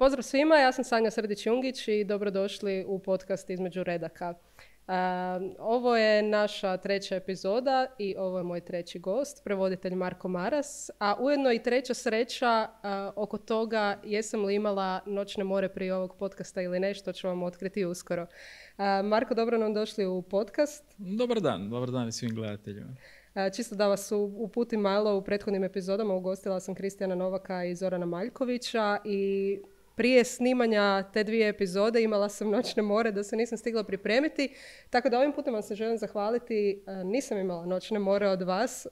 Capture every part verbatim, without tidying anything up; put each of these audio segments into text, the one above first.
Pozdrav svima, ja sam Sanja Srdić-Jungić i dobrodošli u podcast Između redaka. Uh, ovo je naša treća epizoda i ovo je moj treći gost, prevoditelj Marko Maras, a ujedno i treća sreća uh, oko toga jesam li imala noćne more prije ovog podcasta ili ne, što ću vam otkriti uskoro. Uh, Marko, dobro nam došli u podcast. Dobar dan, dobar dan i svim gledateljima. Uh, čisto da vas uputim malo, u prethodnim epizodama ugostila sam Kristijana Novaka i Zorana Maljkovića i prije snimanja te dvije epizode imala sam noćne more da se nisam stigla pripremiti, tako da ovim putem vam se želim zahvaliti. Nisam imala noćne more od vas.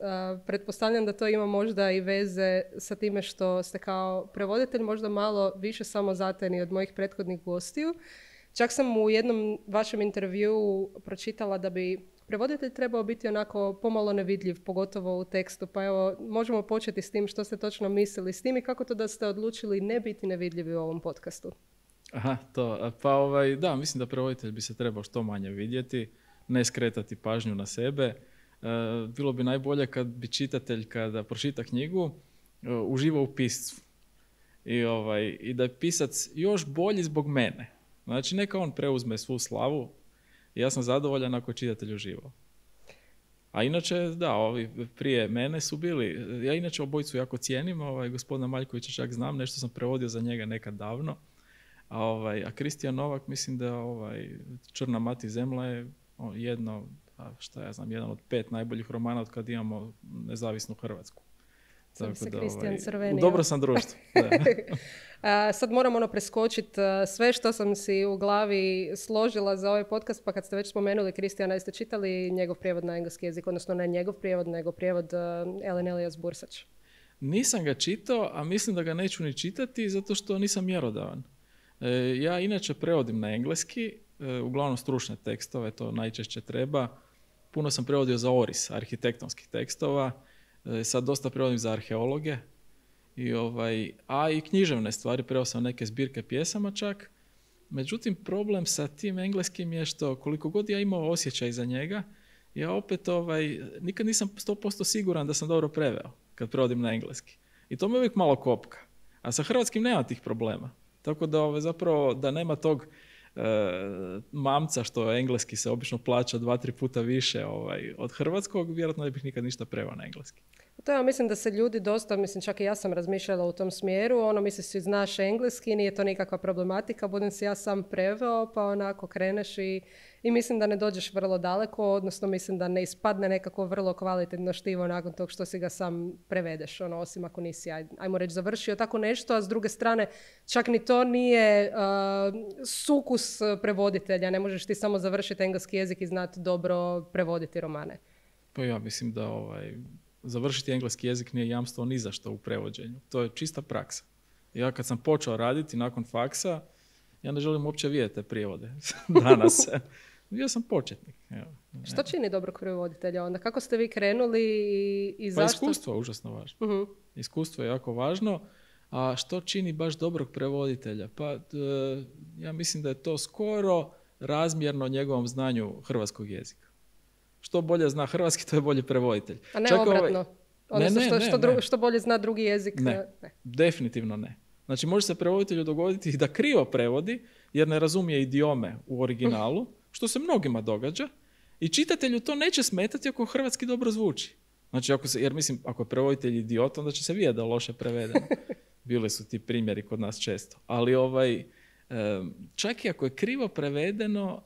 Pretpostavljam da to ima možda i veze sa time što ste kao prevoditelj možda malo više samozatajni od mojih prethodnih gostiju. Čak sam u jednom vašem intervjuu pročitala da bi prevoditelj trebao biti onako pomalo nevidljiv, pogotovo u tekstu. Pa evo, možemo početi s tim što ste točno mislili s tim i kako to da ste odlučili ne biti nevidljivi u ovom podcastu. Aha, to. Pa ovaj, da, mislim da prevoditelj bi se trebao što manje vidjeti, ne skretati pažnju na sebe. E, bilo bi najbolje kad bi čitatelj, kada pročita knjigu, e, uživao u piscu. I, ovaj, I da je pisac još bolji zbog mene. Znači, neka on preuzme svu slavu. Ja sam zadovoljan ako je čitatelj uživao. A inače, da, ovi prije mene su bili, ja inače obojicu jako cijenim, ovaj, gospodina Maljkovića čak znam, nešto sam prevodio za njega nekad davno, a, ovaj, a Kristijan Novak, mislim da ovaj, Črna mati zemlja je jedno, šta ja znam, jedan od pet najboljih romana od kad imamo nezavisnu Hrvatsku. Sam se Kristijan crvenio. Dobro sam društvo. A, sad moram ono preskočiti sve što sam si u glavi složila za ovaj podcast, pa kad ste već spomenuli Kristijana, jeste čitali njegov prijevod na engleski jezik, odnosno ne njegov prijevod, nego prijevod uh, Ellen Elias Bursač? Nisam ga čitao, a mislim da ga neću ni čitati zato što nisam mjerodavan. E, ja inače prevodim na engleski, e, uglavnom stručne tekstove, to najčešće treba. Puno sam prevodio za oris, arhitektonskih tekstova, e, sad dosta prevodim za arheologe. I ovaj, a i književne stvari, preveo sam neke zbirke pjesama čak. Međutim, problem sa tim engleskim je što koliko god ja imao osjećaj za njega, ja opet ovaj, nikad nisam sto posto siguran da sam dobro preveo kad prevodim na engleski. I to me uvijek malo kopka. A sa hrvatskim nema tih problema. Tako da ovaj, zapravo da nema tog e, mamca što engleski se obično plaća dva, tri puta više ovaj, od hrvatskog, vjerojatno ne bih nikad ništa preveo na engleski. To ja mislim da se ljudi dosta, mislim čak i ja sam razmišljala u tom smjeru, ono misli si znaš engleski, nije to nikakva problematika, budem si ja sam preveo, pa onako kreneš i, i mislim da ne dođeš vrlo daleko, odnosno mislim da ne ispadne nekako vrlo kvalitetno štivo nakon tog što si ga sam prevedeš, ono, osim ako nisi, aj, ajmo reći, završio tako nešto, a s druge strane čak ni to nije uh, sukus prevoditelja, ne možeš ti samo završiti engleski jezik i znati dobro prevoditi romane. Pa ja mislim da ovaj... završiti engleski jezik nije jamstvo ni za što u prevođenju. To je čista praksa. Ja kad sam počeo raditi nakon faksa, ja ne želim uopće vidjeti te prijevode danas. Ja sam početnik. Evo. Što čini dobrog prevoditelja onda? Kako ste vi krenuli i, i zašto? Pa iskustvo je užasno važno. Uh-huh. Iskustvo je jako važno. A što čini baš dobrog prevoditelja? Pa ja mislim da je to skoro razmjerno njegovom znanju hrvatskog jezika. Što bolje zna hrvatski, to je bolji prevoditelj. A ne Čak obratno? Ovaj... Odnosno ne, ne, što, ne, što, dru... ne. što bolje zna drugi jezik? Ne, ne, definitivno ne. Znači može se prevoditelju dogoditi da krivo prevodi jer ne razumije idiome u originalu, što se mnogima događa, i čitatelju to neće smetati ako hrvatski dobro zvuči. Znači, ako se, jer mislim, ako je prevoditelj idiot, onda će se vidjeti da je loše prevedeno. Bili su ti primjeri kod nas često. Ali ovaj, čak i ako je krivo prevedeno,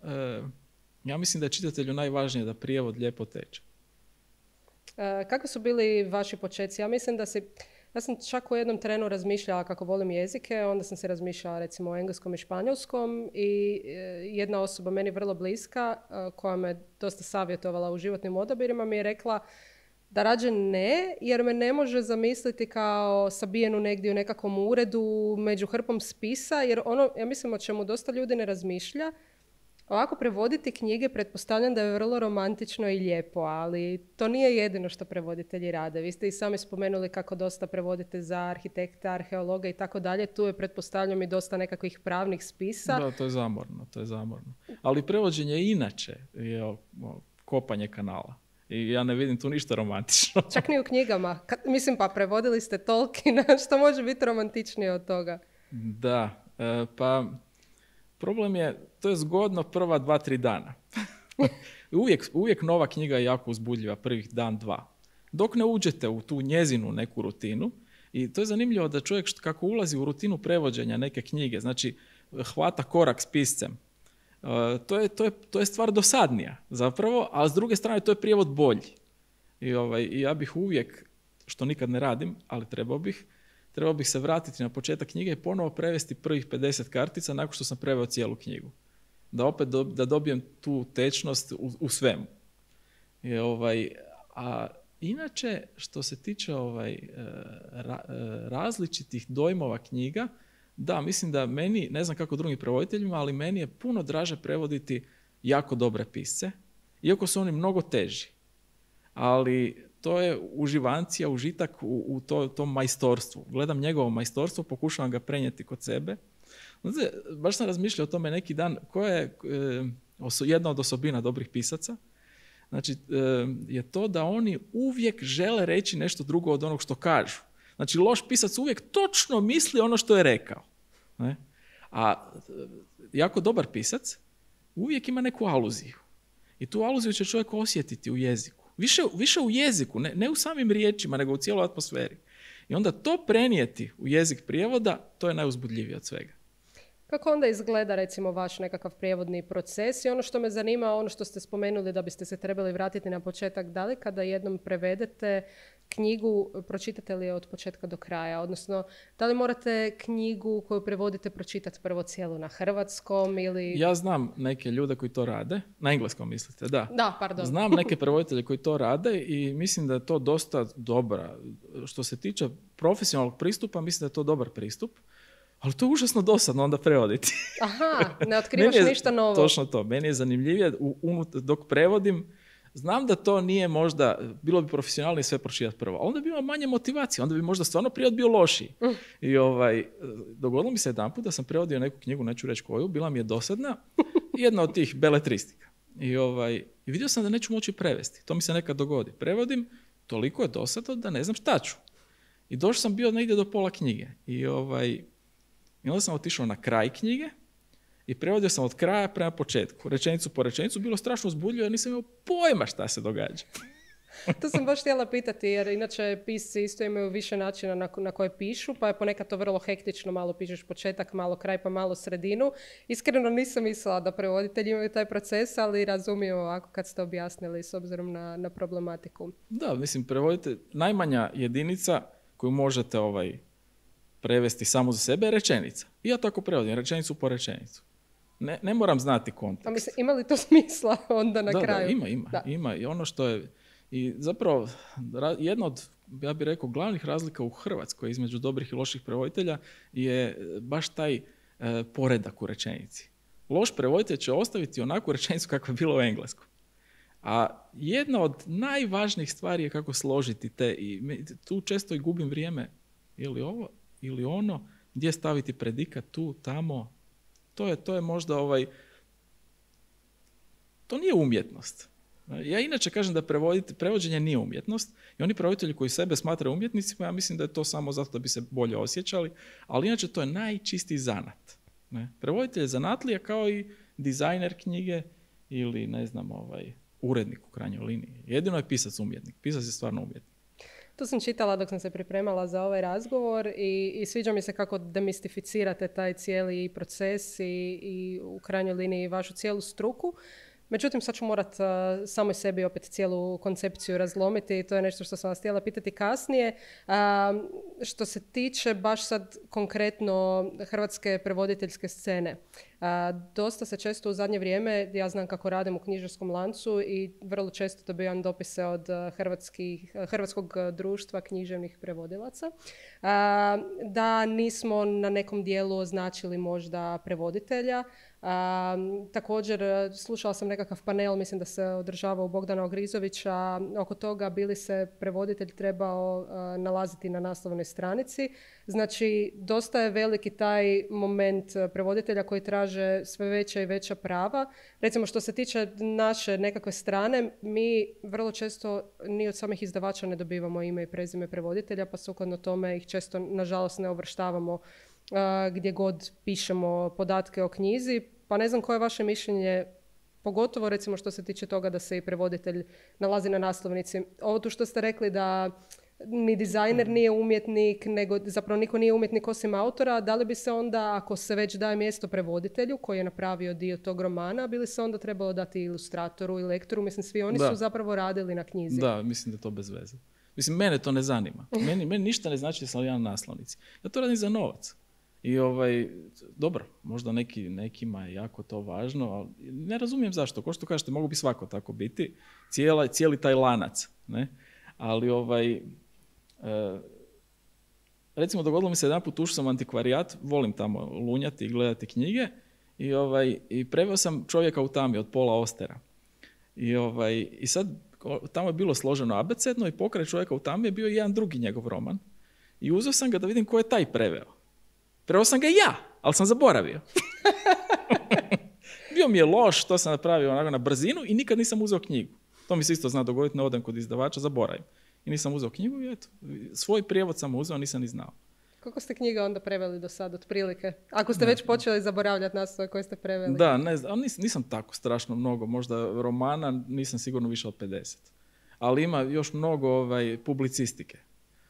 ja mislim da je čitatelju najvažnije da prijevod lijepo teče. E, kakvi su bili vaši počeci? Ja mislim da si... Ja sam čak u jednom trenu razmišljala kako volim jezike, onda sam se razmišljala recimo o engleskom i španjolskom i jedna osoba meni vrlo bliska koja me dosta savjetovala u životnim odabirima mi je rekla da rađe ne, jer me ne može zamisliti kao sabijenu negdje u nekakvom uredu među hrpom spisa, jer ono, ja mislim o čemu dosta ljudi ne razmišlja, ovako prevoditi knjige pretpostavljam da je vrlo romantično i lijepo, ali to nije jedino što prevoditelji rade. Vi ste i sami spomenuli kako dosta prevodite za arhitekta, arheologa i tako dalje. Tu je pretpostavljam i dosta nekakvih pravnih spisa. Da, to je zamorno, to je zamorno. Ali prevođenje inače je kopanje kanala. I ja ne vidim tu ništa romantično. Čak ni u knjigama. Kad, mislim, pa prevodili ste Tolkiena, što može biti romantičnije od toga? Da, E, pa problem je, to je zgodno prva dva, tri dana. uvijek, uvijek nova knjiga je jako uzbudljiva prvih dan, dva. Dok ne uđete u tu njezinu neku rutinu, i to je zanimljivo da čovjek kako ulazi u rutinu prevođenja neke knjige, znači hvata korak s piscem, uh, to, je, to, je, to je stvar dosadnija zapravo, a s druge strane to je prijevod bolji. I, ovaj, i ja bih uvijek, što nikad ne radim, ali trebao bih, trebao bih se vratiti na početak knjige i ponovo prevesti prvih pedeset kartica nakon što sam preveo cijelu knjigu. Da opet do, da dobijem tu tečnost u, u svemu. I, ovaj, a inače, što se tiče ovaj, ra, različitih dojmova knjiga, da, mislim da meni, ne znam kako drugim prevoditeljima, ali meni je puno draže prevoditi jako dobre pisce, iako su oni mnogo teži. Ali to je uživancija, užitak u, u to, tom majstorstvu. Gledam njegovo majstorstvo, pokušavam ga prenijeti kod sebe. Znači, baš sam razmišljao o tome neki dan, koja je e, oso, jedna od osobina dobrih pisaca. Znači, e, je to da oni uvijek žele reći nešto drugo od onog što kažu. Znači, loš pisac uvijek točno misli ono što je rekao. Ne? A jako dobar pisac uvijek ima neku aluziju. I tu aluziju će čovjek osjetiti u jeziku. Više, više u jeziku, ne, ne u samim riječima, nego u cijeloj atmosferi. I onda to prenijeti u jezik prijevoda, to je najuzbudljivije od svega. Kako onda izgleda recimo vaš nekakav prijevodni proces? I ono što me zanima, ono što ste spomenuli da biste se trebali vratiti na početak, da li kada jednom prevedete knjigu, pročitate li je od početka do kraja? Odnosno, da li morate knjigu koju prevodite pročitati prvo cijelu na hrvatskom ili... Ja znam neke ljude koji to rade, na engleskom mislite, da. Da, pardon. Znam neke prevoditelje koji to rade i mislim da je to dosta dobra. Što se tiče profesionalnog pristupa, mislim da je to dobar pristup. Ali to je užasno dosadno onda prevoditi. Aha, ne otkrivaš je, ništa novo. Točno to. Meni je zanimljivije, unut, dok prevodim, znam da to nije možda, bilo bi profesionalnije sve pročitati prvo, ali onda bi imao manje motivacije, onda bi možda stvarno prijevod bio lošiji. Mm. I ovaj, dogodilo mi se jedanput da sam prevodio neku knjigu, neću reći koju, bila mi je dosadna, jedna od tih beletristika. I, ovaj, i vidio sam da neću moći prevesti. To mi se nekad dogodi. Prevodim, toliko je dosadno da ne znam šta ću. I došao sam bio negdje do pola knjige. I ovaj... I onda sam otišao na kraj knjige i prevodio sam od kraja prema početku. Rečenicu po rečenicu, bilo strašno uzbudljivo jer nisam imao pojma šta se događa. To sam baš htjela pitati jer inače pisci isto imaju više načina na, na koje pišu, pa je ponekad to vrlo hektično, malo pišeš početak, malo kraj, pa malo sredinu. Iskreno nisam mislila da prevoditelji imaju taj proces, ali razumijem ovako kad ste objasnili s obzirom na, na problematiku. Da, mislim, prevodite, najmanja jedinica koju možete ovaj, prevesti samo za sebe je rečenica. I ja tako prevodim, rečenicu po rečenicu. Ne, ne moram znati kontekst. A mislim, ima li to smisla onda na da, kraju? Da, ima, ima, da. ima. I ono što je, i zapravo, jedna od, ja bih rekao, glavnih razlika u Hrvatskoj između dobrih i loših prevoditelja je baš taj e, poredak u rečenici. Loš prevoditelj će ostaviti onakvu rečenicu kakva je bila u engleskom. A jedna od najvažnijih stvari je kako složiti te, i tu često i gubim vrijeme, ili ovo, ili ono, gdje staviti predikat, tu, tamo. To je, to je možda ovaj... To nije umjetnost. Ja inače kažem da prevođenje nije umjetnost i oni prevoditelji koji sebe smatraju umjetnicima, ja mislim da je to samo zato da bi se bolje osjećali, ali inače to je najčistiji zanat. Ne? Prevoditelj je zanatlija kao i dizajner knjige ili, ne znam, ovaj, urednik u krajnjoj liniji. Jedino je pisac umjetnik. Pisac je stvarno umjetnik. To sam čitala dok sam se pripremala za ovaj razgovor i, i sviđa mi se kako demistificirate taj cijeli proces i, i u krajnjoj liniji vašu cijelu struku. Međutim, sad ću morat uh, samoj sebi opet cijelu koncepciju razlomiti i to je nešto što sam vas htjela pitati kasnije. Uh, što se tiče baš sad konkretno hrvatske prevoditeljske scene. Uh, dosta se često u zadnje vrijeme, ja znam kako radim u knjižarskom lancu i vrlo često dobivam dopise od hrvatskih, hrvatskog društva književnih prevodilaca, uh, da nismo na nekom dijelu označili možda prevoditelja. Um, također slušala sam nekakav panel, mislim da se održavao Bogdana Ogrizovića, oko toga bi li se prevoditelj trebao uh, nalaziti na naslovnoj stranici. Znači, dosta je veliki taj moment prevoditelja koji traže sve veća i veća prava. Recimo, što se tiče naše nekakve strane, mi vrlo često ni od samih izdavača ne dobivamo ime i prezime prevoditelja, pa sukladno tome ih često, nažalost, ne uvrštavamo gdje god pišemo podatke o knjizi. Pa ne znam koje je vaše mišljenje, pogotovo recimo što se tiče toga da se i prevoditelj nalazi na naslovnici. Ovo tu što ste rekli da ni dizajner nije umjetnik, nego zapravo niko nije umjetnik osim autora, da li bi se onda, ako se već daje mjesto prevoditelju koji je napravio dio tog romana, bi li se onda trebalo dati ilustratoru i lektoru? Mislim, svi oni da. su zapravo radili na knjizi. Da, mislim da je to bez veze. Mislim, mene to ne zanima. Meni, meni ništa ne znači da sam ja na naslovnici. Ja to radim za novac. I ovaj, dobro, možda neki, nekima je jako to važno, ali ne razumijem zašto. Ko što kažete, mogu bi svako tako biti. Cijela, cijeli taj lanac. Ne? Ali ovaj, e, recimo dogodilo mi se jedan put, ušao sam u antikvarijat, volim tamo lunjati i gledati knjige i, ovaj, i preveo sam Čovjeka u tami od Paula Austera. I, ovaj, i sad tamo je bilo složeno abecedno i pokraj Čovjeka u tami je bio jedan drugi njegov roman. I uzeo sam ga da vidim ko je taj preveo. Preveo sam ga ja, ali sam zaboravio. Bio mi je loš, to sam napravio onako na brzinu i nikad nisam uzeo knjigu. To mi se isto zna dogoditi, ne odem kod izdavača, zaboravim. I nisam uzeo knjigu i eto, svoj prijevod sam uzeo, nisam ni znao. Koliko ste knjiga onda preveli do sad, otprilike? Ako ste ne, već počeli zaboravljati naslove koje ste preveli. Da, ne znam, nis, nisam tako strašno mnogo, možda romana, nisam sigurno više od pedeset. Ali ima još mnogo ovaj, publicistike,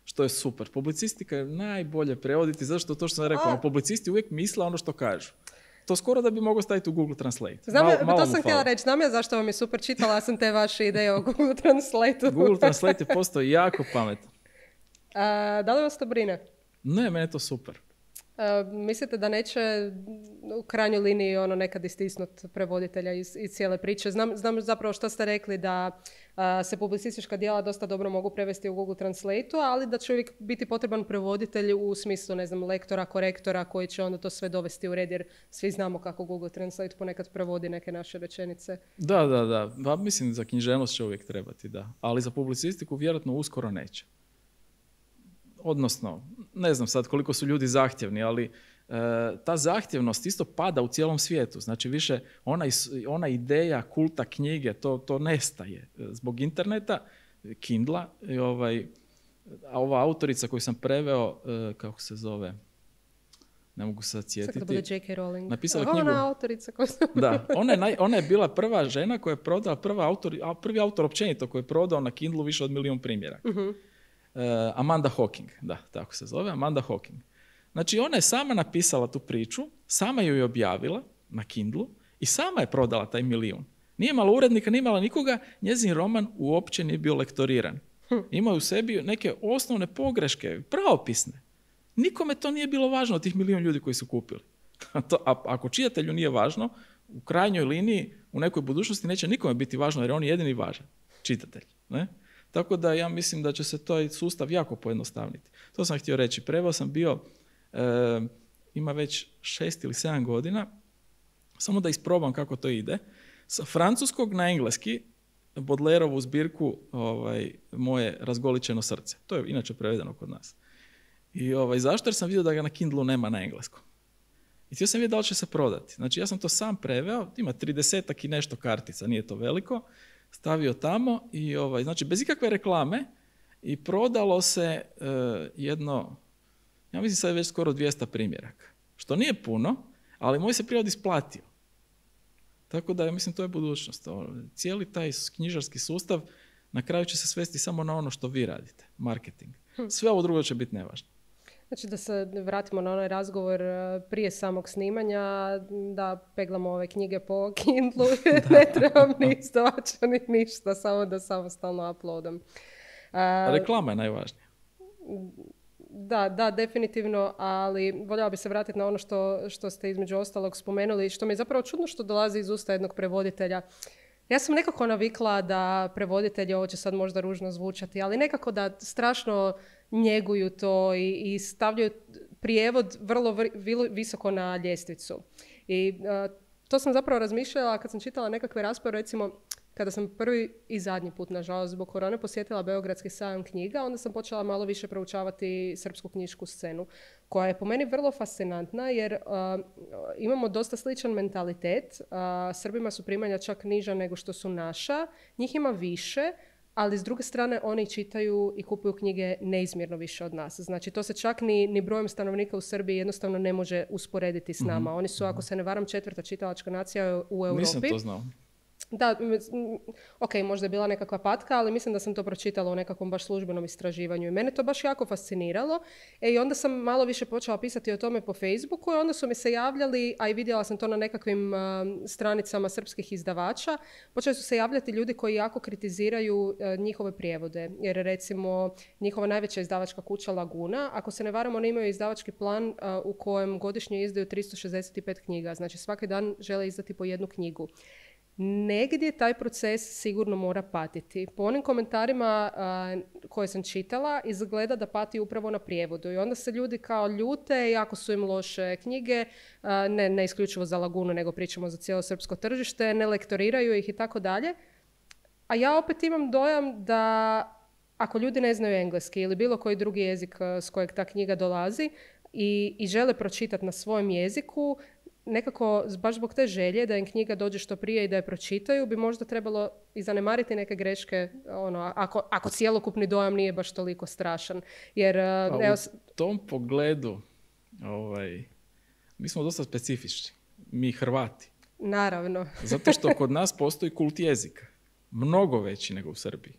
što je super. Publicistika je najbolje prevoditi, zato što to što sam rekao, publicisti uvijek misle ono što kažu. To skoro da bi mogao staviti u Google Translate. Znam, malo, malo to sam htjela reći. Znam ja zašto vam je super, čitala sam te vaše ideje o Google Translate-u. Google Translate je postao jako pametan. A, da li vas to brine? Ne, meni je to super. Uh, mislite da neće u krajnjoj liniji ono nekad istisnut prevoditelja iz, iz cijele priče? Znam, znam zapravo što ste rekli da uh, se publicistička djela dosta dobro mogu prevesti u Google Translate-u, ali da će uvijek biti potreban prevoditelj u smislu, ne znam, lektora, korektora koji će onda to sve dovesti u red, jer svi znamo kako Google Translate ponekad prevodi neke naše rečenice. Da, da, da. Pa, mislim, za književnost će uvijek trebati, da. Ali za publicistiku vjerojatno uskoro neće. Odnosno, ne znam sad koliko su ljudi zahtjevni, ali e, ta zahtjevnost isto pada u cijelom svijetu. Znači više ona, ona ideja kulta knjige, to, to nestaje zbog interneta, Kindla. I ovaj, a ova autorica koju sam preveo, e, kako se zove, ne mogu se sad sjetiti. Sad da bude J K. Rowling. Napisala knjigu. Ona autorica koju sam... Da, ona je, naj, ona je bila prva žena koja je prodala, prva autor, prvi autor općenito koji je prodao na Kindlu više od milijun primjeraka. Uh-huh. Uh, Amanda Hocking, da, tako se zove, Amanda Hocking. Znači, ona je sama napisala tu priču, sama ju je objavila na Kindlu i sama je prodala taj milijun. Nije imala urednika, nije imala nikoga, njezin roman uopće nije bio lektoriran. Hm. Ima u sebi neke osnovne pogreške, pravopisne. Nikome to nije bilo važno od tih milijun ljudi koji su kupili. to, a, ako čitatelju nije važno, u krajnjoj liniji, u nekoj budućnosti neće nikome biti važno, jer on je jedini važan, čitatelj. Ne? Tako da ja mislim da će se taj sustav jako pojednostavniti. To sam htio reći. Preveo sam bio, e, ima već šest ili sedam godina, samo da isprobam kako to ide, sa francuskog na engleski Baudelaireovu zbirku ovaj, Moje razgoličeno srce. To je inače prevedeno kod nas. I ovaj, zašto? Jer sam vidio da ga na Kindlu nema na engleskom. I htio sam vidjeti da li će se prodati. Znači ja sam to sam preveo, ima tridesetak i nešto kartica, nije to veliko, stavio tamo i ovaj, znači bez ikakve reklame i prodalo se uh, jedno, ja mislim sad je već skoro dvjesto primjeraka. Što nije puno, ali moj se prijevod isplatio. Tako da, ja mislim, to je budućnost. Cijeli taj knjižarski sustav na kraju će se svesti samo na ono što vi radite, marketing. Sve ovo drugo će biti nevažno. Znači da se vratimo na onaj razgovor prije samog snimanja, da peglamo ove knjige po Kindlu, ne trebam ni izdavača ni ništa, samo da samostalno uploadam. A reklama je najvažnija. Da, da, definitivno, ali voljela bi se vratiti na ono što, što ste između ostalog spomenuli, što mi je zapravo čudno što dolazi iz usta jednog prevoditelja. Ja sam nekako navikla da prevoditelji, ovo će sad možda ružno zvučati, ali nekako da strašno njeguju to i, i stavljaju prijevod vrlo vr, visoko na ljestvicu. I uh, to sam zapravo razmišljala kad sam čitala nekakve rasprave, recimo kada sam prvi i zadnji put, nažalost, zbog korone posjetila Beogradski sajam knjiga, onda sam počela malo više proučavati srpsku knjišku scenu, koja je po meni vrlo fascinantna, jer uh, imamo dosta sličan mentalitet. Uh, Srbima su primanja čak niža nego što su naša, njih ima više, ali s druge strane oni čitaju i kupuju knjige neizmjerno više od nas. Znači to se čak ni, ni brojem stanovnika u Srbiji jednostavno ne može usporediti s nama. Mm-hmm. Oni su, ako se ne varam, četvrta čitalačka nacija u Europi. Nisam to znao. Da, ok, možda je bila nekakva patka, ali mislim da sam to pročitala u nekakvom baš službenom istraživanju i mene to baš jako fasciniralo. E, i onda sam malo više počela pisati o tome po Facebooku i onda su mi se javljali, a i vidjela sam to na nekakvim uh, stranicama srpskih izdavača, počeli su se javljati ljudi koji jako kritiziraju uh, njihove prijevode. Jer recimo njihova najveća izdavačka kuća Laguna, ako se ne varam, oni imaju izdavački plan uh, u kojem godišnje izdaju tristo šezdeset pet knjiga. Znači svaki dan žele izdati po jednu knjigu. Negdje taj proces sigurno mora patiti. Po onim komentarima uh, koje sam čitala, izgleda da pati upravo na prijevodu. I onda se ljudi kao ljute, jako su im loše knjige, uh, ne, ne isključivo za Lagunu, nego pričamo za cijelo srpsko tržište, ne lektoriraju ih i tako dalje. A ja opet imam dojam da ako ljudi ne znaju engleski ili bilo koji drugi jezik uh, s kojeg ta knjiga dolazi i, i žele pročitati na svojem jeziku, nekako, baš zbog te želje da im knjiga dođe što prije i da je pročitaju, bi možda trebalo i zanemariti neke greške, ono, ako, ako cjelokupni dojam nije baš toliko strašan. Jer, pa evo, u tom pogledu, ovaj, mi smo dosta specifični. Mi Hrvati. Naravno. Zato što kod nas postoji kult jezika. Mnogo veći nego u Srbiji.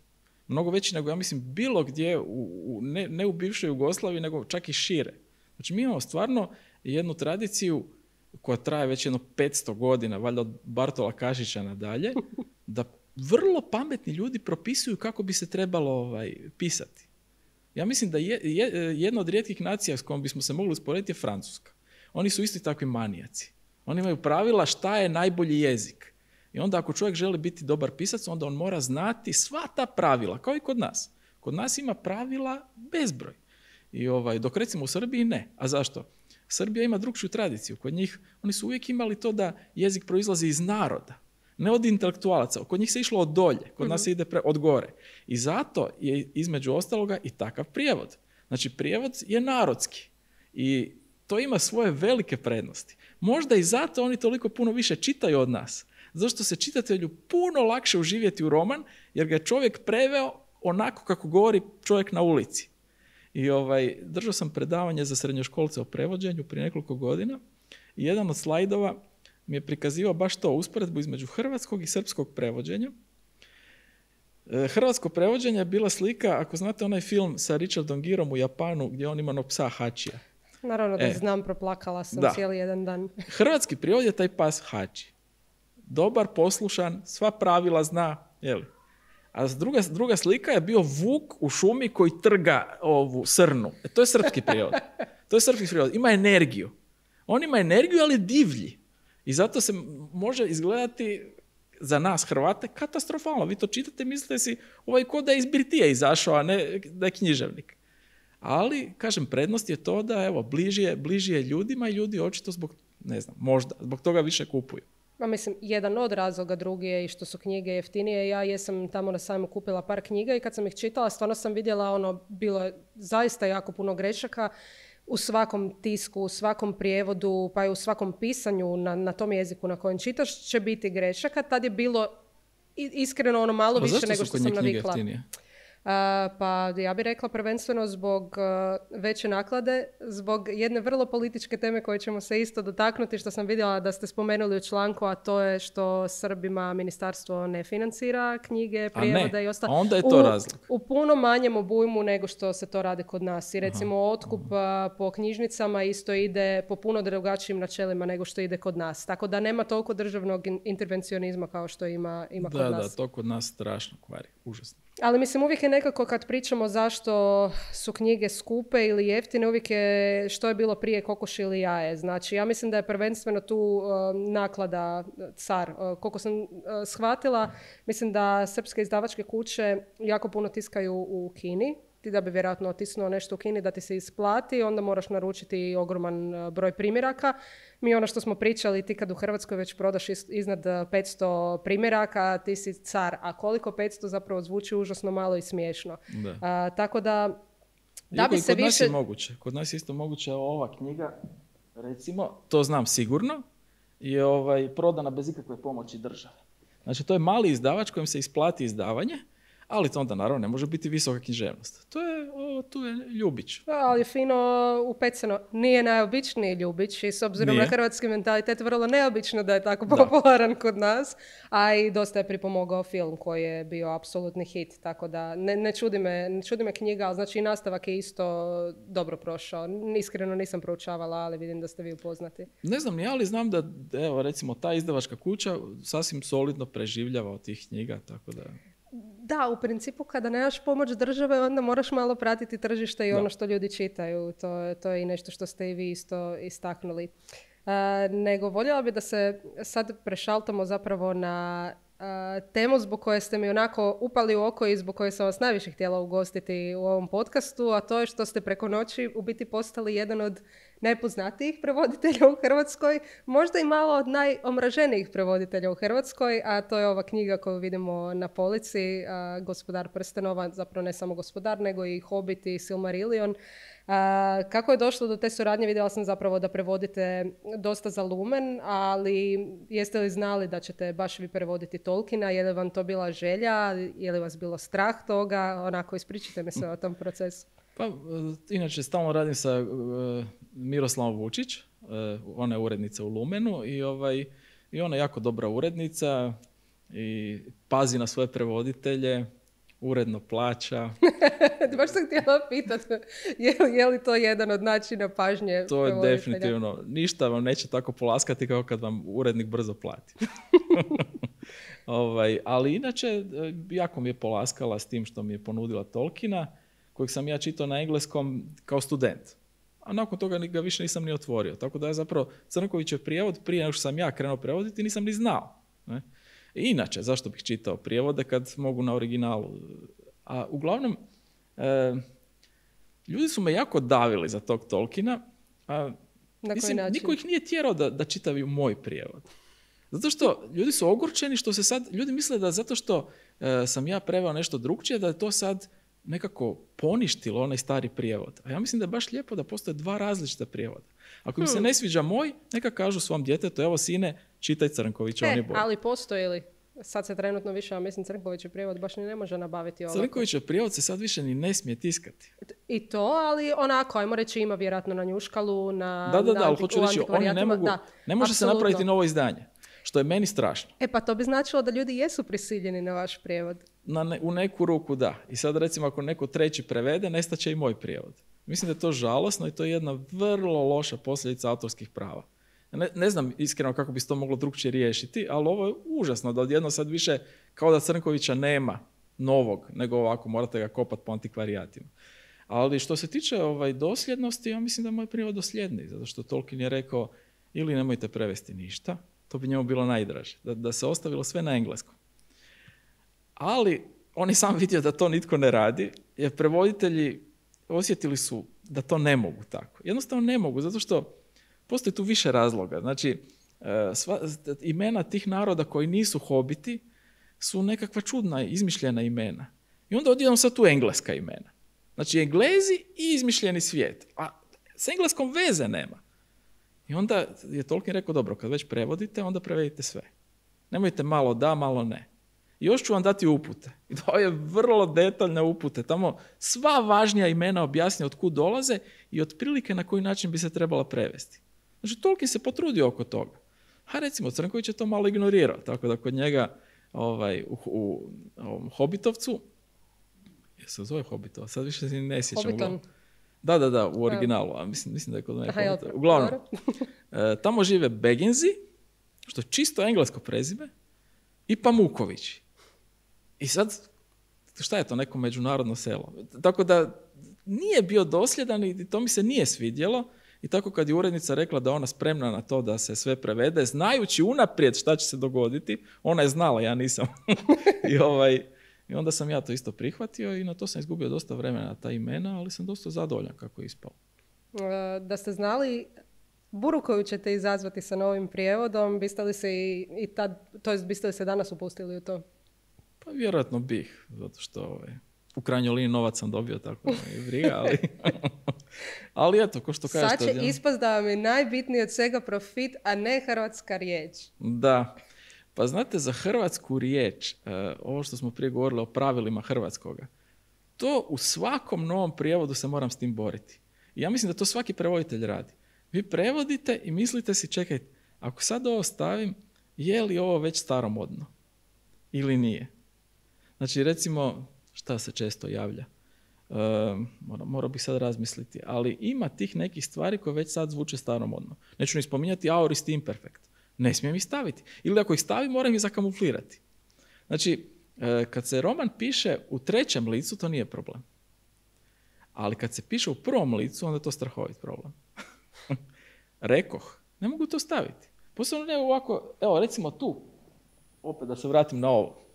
Mnogo veći nego, ja mislim, bilo gdje, u, u, ne, ne u bivšoj Jugoslaviji, nego čak i šire. Znači, mi imamo stvarno jednu tradiciju koja traje već jedno petsto godina, valjda od Bartola Kašića nadalje, da vrlo pametni ljudi propisuju kako bi se trebalo ovaj, pisati. Ja mislim da je, je, jedna od rijetkih nacija s kojom bismo se mogli usporediti je Francuska. Oni su isti takvi manijaci. Oni imaju pravila šta je najbolji jezik. I onda ako čovjek želi biti dobar pisac, onda on mora znati sva ta pravila, kao i kod nas. Kod nas ima pravila bezbroj. I ovaj, dok recimo u Srbiji ne. A zašto? Srbija ima drugčiju tradiciju. Kod njih, oni su uvijek imali to da jezik proizlazi iz naroda, ne od intelektualaca. Kod njih se išlo od dolje, kod mm-hmm. nas se ide pre, od gore. I zato je između ostaloga i takav prijevod. Znači, prijevod je narodski. I to ima svoje velike prednosti. Možda i zato oni toliko puno više čitaju od nas. Zašto se čitatelju puno lakše uživjeti u roman, jer ga je čovjek preveo onako kako govori čovjek na ulici. I ovaj, držao sam predavanje za srednjoškolce o prevođenju prije nekoliko godina i jedan od slajdova mi je prikazivao baš to, usporedbu između hrvatskog i srpskog prevođenja. Hrvatsko prevođenje je bila slika, ako znate onaj film sa Richardom Gerom u Japanu gdje on ima onog psa Hačija. Naravno da e, znam, proplakala sam da. cijeli jedan dan. Hrvatski prijevod je taj pas Hači. Dobar, poslušan, sva pravila zna, jeli? A druga, druga slika je bio vuk u šumi koji trga ovu srnu. E, to je srpski prijevod. To je srpski prijevod. Ima energiju. On ima energiju, ali je divlji. I zato se može izgledati za nas Hrvate katastrofalno. Vi to čitate, mislite si ovaj ko da je iz birtije izašao, a ne da je književnik. Ali, kažem, prednost je to da evo, bliži je, bliži je ljudima i ljudi očito zbog, ne znam, možda, zbog toga više kupuju. Ma mislim, jedan od razloga, drugi je i što su knjige jeftinije. Ja jesam tamo na sajmu kupila par knjiga i kad sam ih čitala, stvarno sam vidjela, ono, bilo je zaista jako puno grešaka u svakom tisku, u svakom prijevodu, pa i u svakom pisanju na, na tom jeziku na kojem čitaš će biti grešaka. Tad je bilo iskreno ono malo više nego što sam navikla. Uh, pa ja bih rekla prvenstveno zbog uh, veće naklade, zbog jedne vrlo političke teme koje ćemo se isto dotaknuti, što sam vidjela da ste spomenuli u članku, a to je što Srbima ministarstvo ne financira knjige, prijevode i ostalo. Onda je to u, razlog. U puno manjem obujmu nego što se to radi kod nas. I recimo aha, otkup aha. po knjižnicama isto ide po puno drugačijim načelima nego što ide kod nas. Tako da nema toliko državnog intervencionizma kao što ima, ima da, kod nas. Da, to kod nas strašno kvari. Užasno. Ali mislim, uvijek je nekako kad pričamo zašto su knjige skupe ili jeftine, uvijek je što je bilo prije kokoš ili jaje. Znači, ja mislim da je prvenstveno tu uh, naklada car. Uh, koliko sam uh, shvatila, mislim da srpske izdavačke kuće jako puno tiskaju u Kini. Ti da bi vjerojatno otisnuo nešto u Kini da ti se isplati, onda moraš naručiti ogroman broj primjeraka. Mi ono što smo pričali, ti kad u Hrvatskoj već prodaš iznad petsto primjeraka, ti si car. A koliko petsto zapravo zvuči užasno malo i smiješno. Da. A, tako da, da Iako bi se kod više... nas je moguće. Kod nas je isto moguće ova knjiga, recimo, to znam sigurno, je ovaj, prodana bez ikakve pomoći države. Znači, to je mali izdavač kojem se isplati izdavanje, Ali to onda naravno ne može biti visoka književnost. To je, o, tu je Ljubić. Ali fino upecano. Nije najobičniji Ljubić i s obzirom Nije. na hrvatski mentalitet vrlo neobično da je tako popularan kod nas. A i dosta je pripomogao film koji je bio apsolutni hit. Tako da ne, ne, čudi me, ne čudi me knjiga, ali znači i nastavak je isto dobro prošao. Iskreno nisam proučavala, ali vidim da ste vi upoznati. Ne znam ni ja, ali znam da evo, recimo ta izdavačka kuća sasvim solidno preživljava od tih knjiga, tako da... Da, u principu kada nemaš pomoć države, onda moraš malo pratiti tržište i Da. ono što ljudi čitaju. To, to je i nešto što ste i vi isto istaknuli. Uh, nego voljela bi da se sad prešaltamo zapravo na uh, temu zbog koje ste mi onako upali u oko i zbog koje sam vas najviše htjela ugostiti u ovom podcastu, a to je što ste preko noći u biti postali jedan od najpoznatijih prevoditelja u Hrvatskoj, možda i malo od najomraženijih prevoditelja u Hrvatskoj, a to je ova knjiga koju vidimo na polici, a, Gospodar prstenova, zapravo ne samo Gospodar, nego i Hobbit i Silmarillion. A, kako je došlo do te suradnje? Vidjela sam zapravo da prevodite dosta za Lumen, ali jeste li znali da ćete baš vi prevoditi Tolkiena? Je li vam to bila želja? Je li vas bilo strah toga? Onako, ispričajte mi se o tom procesu. Pa, inače, stalno radim sa uh, Miroslavom Vučić, uh, ona je urednica u Lumenu i, ovaj, i ona je jako dobra urednica i pazi na svoje prevoditelje, uredno plaća. Baš sam htjela pitati, je, je li to jedan od načina pažnje To je prevoditelja? definitivno, ništa vam neće tako polaskati kao kad vam urednik brzo plati. ovaj, ali inače, jako mi je polaskala s tim što mi je ponudila Tolkiena, kojeg sam ja čitao na engleskom kao student. A nakon toga ga više nisam ni otvorio. Tako da je zapravo Crnkovićev prijevod, prije nego što sam ja krenuo prevoditi, nisam ni znao. Ne? I inače, zašto bih čitao prijevode kad mogu na originalu? A uglavnom, e, ljudi su me jako davili za tog Tolkiena, a Na mislim, koji način? niko ih nije tjerao da, da čitaju moj prijevod. Zato što ljudi su ogorčeni što se sad, ljudi misle da zato što e, sam ja preveo nešto drugčije, da je to sad nekako poništilo onaj stari prijevod. A ja mislim da je baš lijepo da postoje dva različita prijevoda. Ako mi se Hmm. ne sviđa moj, neka kažu svom djetetu, evo sine, čitaj Crnkovića, on je E, bolji. ali postoji li? Sad se trenutno više, a mislim Crnkovićev prijevod baš ni ne može nabaviti ovako. Crnkovićev prijevod se sad više ni ne smije tiskati. I to, ali onako, ajmo reći, ima vjerojatno na njuškalu, na Da, da, na da, ali antik- hoću u reći, oni ne antikvarijatima. mogu, Da, ne može se apsolutno. napraviti novo izdanje. Što je meni strašno. E pa to bi značilo da ljudi jesu prisiljeni na vaš prijevod. Na ne, u neku ruku da. I sad recimo ako neko treći prevede, nestaće i moj prijevod. Mislim da je to žalosno i to je jedna vrlo loša posljedica autorskih prava. Ne, ne znam iskreno kako bi se to moglo drugčije riješiti, ali ovo je užasno da odjedno sad više kao da Crnkovića nema novog, nego ovako morate ga kopati po antikvarijatima. Ali što se tiče ovaj, dosljednosti, ja mislim da je moj prijevod dosljedniji, zato što Tolkien je rekao ili nemojte prevesti ništa, to bi njemu bilo najdraže, da, da se ostavilo sve na engleskom. Ali on je sam vidio da to nitko ne radi, jer prevoditelji osjetili su da to ne mogu tako. Jednostavno ne mogu, zato što postoji tu više razloga. Znači, sva, imena tih naroda koji nisu hobiti su nekakva čudna, izmišljena imena. I onda odjednom sad tu engleska imena. Znači, Englezi i izmišljeni svijet. A s engleskom veze nema. I onda je Tolkien rekao, dobro, kad već prevodite, onda prevedite sve. Nemojte malo da, malo ne. I još ću vam dati upute. I to je vrlo detaljne upute. Tamo sva važnija imena objasnja od kud dolaze i otprilike na koji način bi se trebala prevesti. Znači, Tolkien se potrudio oko toga. A recimo, Crnković je to malo ignorirao. Tako da kod njega ovaj, u, u, u Hobbitovcu, je se zove Hobbitova, sad više se ne sjećam. Hobbiton. Da, da, da, u originalu. A mislim, mislim da je kod mene Aha, jel, Hobbitova. Uglavnom, dobro. e, tamo žive Bagginsi, što je čisto englesko prezime, i Pamukovići. I sad, šta je to, neko međunarodno selo? Tako da nije bio dosljedan i to mi se nije svidjelo. I tako kad je urednica rekla da ona spremna na to da se sve prevede, znajući unaprijed šta će se dogoditi, ona je znala, ja nisam. I, ovaj, I onda sam ja to isto prihvatio i na to sam izgubio dosta vremena na ta imena, ali sam dosta zadovoljan kako je ispalo. Da ste znali buru koju ćete izazvati sa novim prijevodom, biste li se i, i tad, to jest biste li se danas upustili u to? Pa vjerojatno bih, zato što ovaj, u krajnjoj liniji novac sam dobio, tako da je briga, ali... ali eto, ko što kažete... Sad će ja... ispast da vam je najbitnije od svega profit, a ne hrvatska riječ. Da, Pa znate, za hrvatsku riječ, uh, ovo što smo prije govorili o pravilima hrvatskoga, to u svakom novom prijevodu se moram s tim boriti. I ja mislim da to svaki prevoditelj radi. Vi prevodite i mislite si, čekaj, ako sad ovo stavim, je li ovo već staromodno? Ili nije? Znači, recimo, šta se često javlja? Uh, mora, morao bih sad razmisliti, ali ima tih nekih stvari koje već sad zvuče staromodno. Neću ni spominjati aorist imperfekt. Ne smijem ih staviti. Ili ako ih stavim, moram ih zakamuflirati. Znači, kad se roman piše u trećem licu, to nije problem. Ali kad se piše u prvom licu, onda je to strahovit problem. Rekoh, ne mogu to staviti. Posebno ne ovako, evo recimo tu, opet da se vratim na ovo.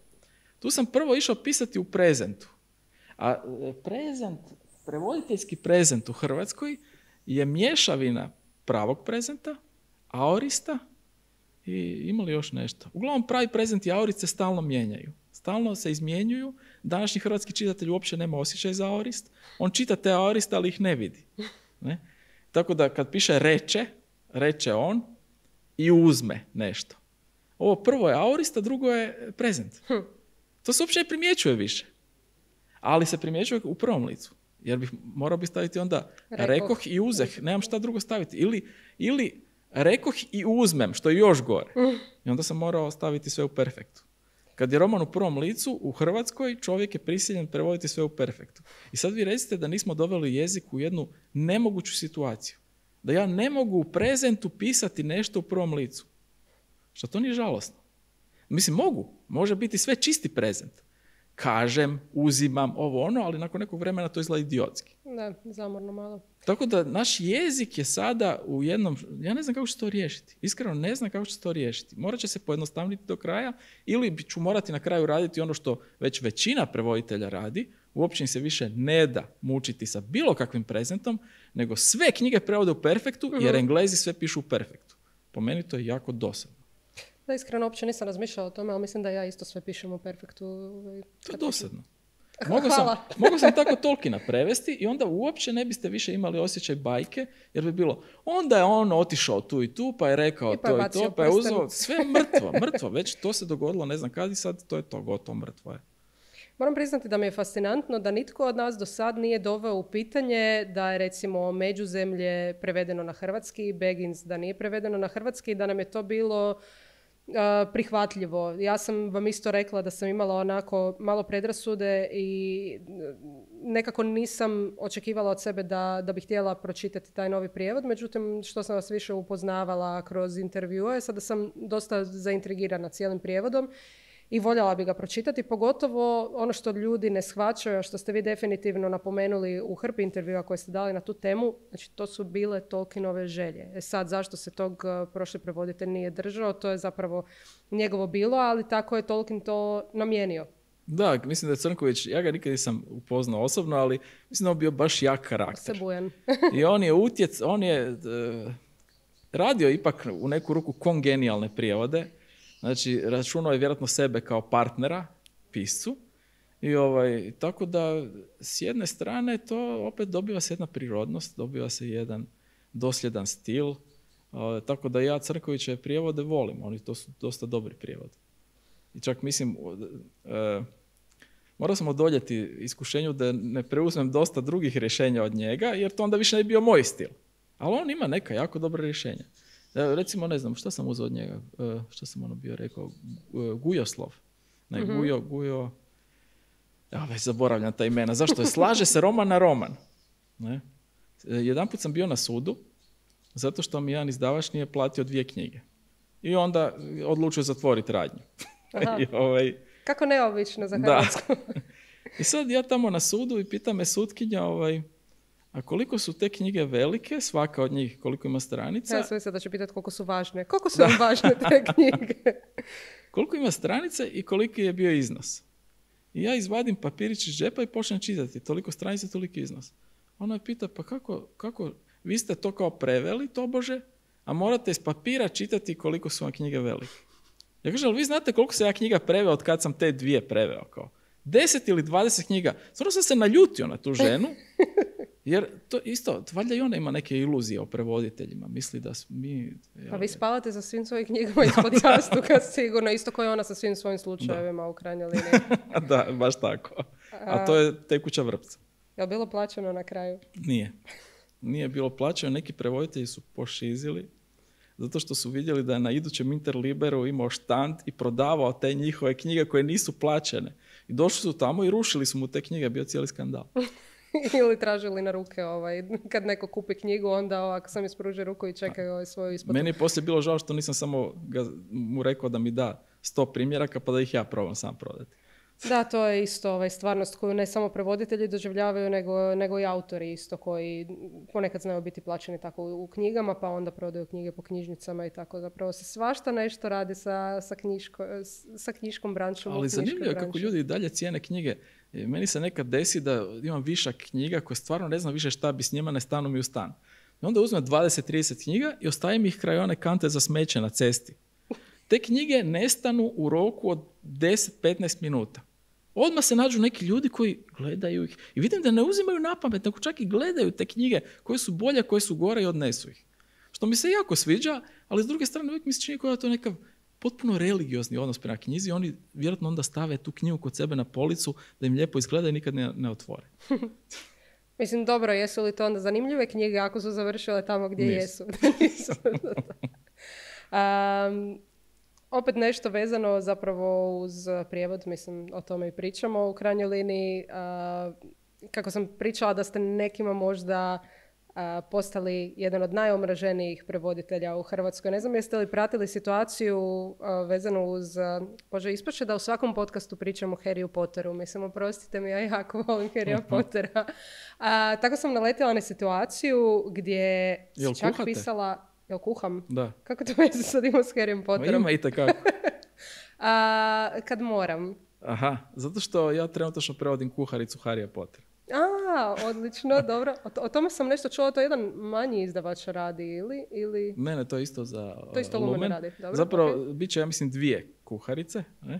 Tu sam prvo išao pisati u prezentu. A prezent, prevoditeljski prezent u Hrvatskoj je mješavina pravog prezenta, aorista i ima li još nešto. Uglavnom pravi prezent i aorist se stalno mijenjaju. Stalno se izmjenjuju. Današnji hrvatski čitatelj uopće nema osjećaj za aorist. On čita te aoriste, ali ih ne vidi. Ne? Tako da kad piše reče, reče on i uzme nešto. Ovo prvo je aorist, a drugo je prezent. To se uopće ne primjećuje više. Ali se primjećuje u prvom licu. Jer bih morao bi staviti onda rekoh, rekoh i uzeh. Nemam šta drugo staviti. Ili, ili rekoh i uzmem, što je još gore. I onda sam morao staviti sve u perfektu. Kad je roman u prvom licu, u Hrvatskoj čovjek je prisiljen prevoditi sve u perfektu. I sad vi recite da nismo doveli jezik u jednu nemoguću situaciju. Da ja ne mogu u prezentu pisati nešto u prvom licu. Što to nije žalosno. Mislim, mogu. Može biti sve čisti prezent. Kažem, uzimam, ovo ono, ali nakon nekog vremena to izgleda idiotski. Da, zamorno malo. Tako da naš jezik je sada u jednom... Ja ne znam kako će to riješiti. Iskreno ne znam kako će to riješiti. Morat će se pojednostavniti do kraja ili ću morati na kraju raditi ono što već većina prevoditelja radi. Uopće im se više ne da mučiti sa bilo kakvim prezentom, nego sve knjige prevode u perfektu, uh-huh. jer Englezi sve pišu u perfektu. Po meni to je jako dosadno. Da, iskreno, uopće nisam razmišljala o tome, ali mislim da ja isto sve pišem u perfektu. To je dosadno. Mogao sam, mogao sam tako Tolkiena prevesti i onda uopće ne biste više imali osjećaj bajke, jer bi bilo, onda je on otišao tu i tu, pa je rekao I pa to i to, pa je uzeo, sve mrtvo, mrtvo, već to se dogodilo, ne znam kad i sad, to je to, gotovo, mrtvo je. Moram priznati da mi je fascinantno da nitko od nas do sad nije doveo u pitanje da je recimo Međuzemlje prevedeno na hrvatski, Baggins da nije prevedeno na hrvatski i da nam je to bilo Uh, prihvatljivo. Ja sam vam isto rekla da sam imala onako malo predrasude i nekako nisam očekivala od sebe da, da bih htjela pročitati taj novi prijevod, međutim što sam vas više upoznavala kroz intervjue, sada sam dosta zaintrigirana cijelim prijevodom i voljela bi ga pročitati, pogotovo ono što ljudi ne shvaćaju, a što ste vi definitivno napomenuli u hrpi intervjua koje ste dali na tu temu, znači to su bile Tolkienove želje. E sad, zašto se tog uh, prošli prevoditelj nije držao, to je zapravo njegovo bilo, ali tako je Tolkien to namijenio. Da, mislim da je Crnković, ja ga nikad nisam upoznao osobno, ali mislim da on bio baš jak karakter. Sebujan. I on je utjec, on je uh, radio ipak u neku ruku kongenijalne prijevode. Znači, računao je vjerojatno sebe kao partnera, piscu. I ovaj, tako da, s jedne strane, to opet dobiva se jedna prirodnost, dobiva se jedan dosljedan stil. Uh, tako da ja Crnkovićeve prijevode volim, oni to su dosta dobri prijevodi. I čak mislim, uh, uh, morao sam odoljeti iskušenju da ne preuzmem dosta drugih rješenja od njega, jer to onda više ne bi bio moj stil. Ali on ima neka jako dobra rješenja. Recimo, ne znam, šta sam uzeo od njega? Uh, šta sam ono bio rekao? Uh, Gujoslov. Ne, mm-hmm. Gujo, Gujo... Ja već zaboravljam ta imena. Zašto je? Slaže se roman na roman. Ne? Jedanput sam bio na sudu, zato što mi jedan izdavač nije platio dvije knjige. I onda odlučio zatvoriti radnju. I, ovaj... Kako neobično za Hrvatsku. I sad ja tamo na sudu i pita me sutkinja, ovaj, a koliko su te knjige velike, svaka od njih, koliko ima stranica? Ja sam mislila da će pitati koliko su važne. Koliko su vam važne te knjige? Koliko ima stranica i koliki je bio iznos? I ja izvadim papirić iz džepa i počnem čitati. Toliko stranica, toliko iznos. Ona je pita, pa kako, kako, vi ste to kao preveli, tobože, a morate iz papira čitati koliko su vam knjige velike. Ja kažem, ali vi znate koliko se ja knjiga preveo od kad sam te dvije preveo? Kao deset ili dvadeset knjiga. Stvarno sam se naljutio na tu ženu Jer to isto, valjda i ona ima neke iluzije o prevoditeljima. Misli da mi... Pa vi spavate sa svim svojim knjigama ispod jastuka sigurno, isto kao i ona sa svim svojim slučajevima u krajnjoj liniji. Da, baš tako. A to je tekuća vrpca. Je li bilo plaćeno na kraju? Nije. Nije bilo plaćeno. Neki prevoditelji su pošizili zato što su vidjeli da je na idućem Interliberu imao štand i prodavao te njihove knjige koje nisu plaćene. I došli su tamo i rušili su mu te knjige. Bio cijeli skandal. Ili tražili na ruke, ovaj, kad neko kupi knjigu, onda ako sam ispruži ruku i čekaju ovaj svoju isplatu. Meni je poslije bilo žao što nisam samo ga, mu rekao da mi da sto primjeraka pa da ih ja probam sam prodati. Da, to je isto ovaj, stvarnost koju ne samo prevoditelji doživljavaju, nego, nego i autori isto koji ponekad znaju biti plaćeni tako u, u knjigama, pa onda prodaju knjige po knjižnicama i tako. Zapravo se svašta nešto radi sa, sa, knjiško, sa knjiškom branšom. Ali zanimljivo je kako ljudi dalje cijene knjige. Meni se nekad desi da imam višak knjiga koje stvarno ne znam više šta bi s njima, ne stanu mi u stan. I onda uzmem dvadeset trideset knjiga i ostavim ih kraj one kante za smeće na cesti. Te knjige nestanu u roku od deset do petnaest minuta. Odmah se nađu neki ljudi koji gledaju ih. I vidim da ne uzimaju na pamet, nego čak i gledaju te knjige koje su bolje, koje su gore i odnesu ih. Što mi se jako sviđa, ali s druge strane uvijek mi se čini kao da to nekav potpuno religiozni odnos prema knjizi. Oni vjerojatno onda stave tu knjigu kod sebe na policu da im lijepo izgleda i nikad ne, ne otvore. Mislim, dobro, jesu li to onda zanimljive knjige ako su završile tamo gdje Nisu. jesu? um, opet nešto vezano zapravo uz prijevod, mislim, o tome i pričamo u krajnjoj liniji. Uh, kako sam pričala da ste nekima možda uh, postali jedan od najomraženijih prevoditelja u Hrvatskoj. Ne znam jeste li pratili situaciju uh, vezanu uz... Uh, Bože, ispače da u svakom podcastu pričam o Harryu Potteru. Mislim, oprostite mi, ja jako volim Harrya Pottera. Uh, tako sam naletila na situaciju gdje Jel si čak kuhate? pisala... Jel kuham? Da. Kako to veze sad ima s Harryem Potterom? Ma ima i takako. A, kad moram. Aha, zato što ja trenutno prevodim kuharicu Harrya Pottera. A, odlično, dobro. O, o tome sam nešto čula, to jedan manji izdavač radi ili... ili... Ne, ne, to je isto za To isto uh, Lumen Lumen. radi, dobro. Zapravo, Okay. bit će, ja mislim, dvije kuharice. Ne?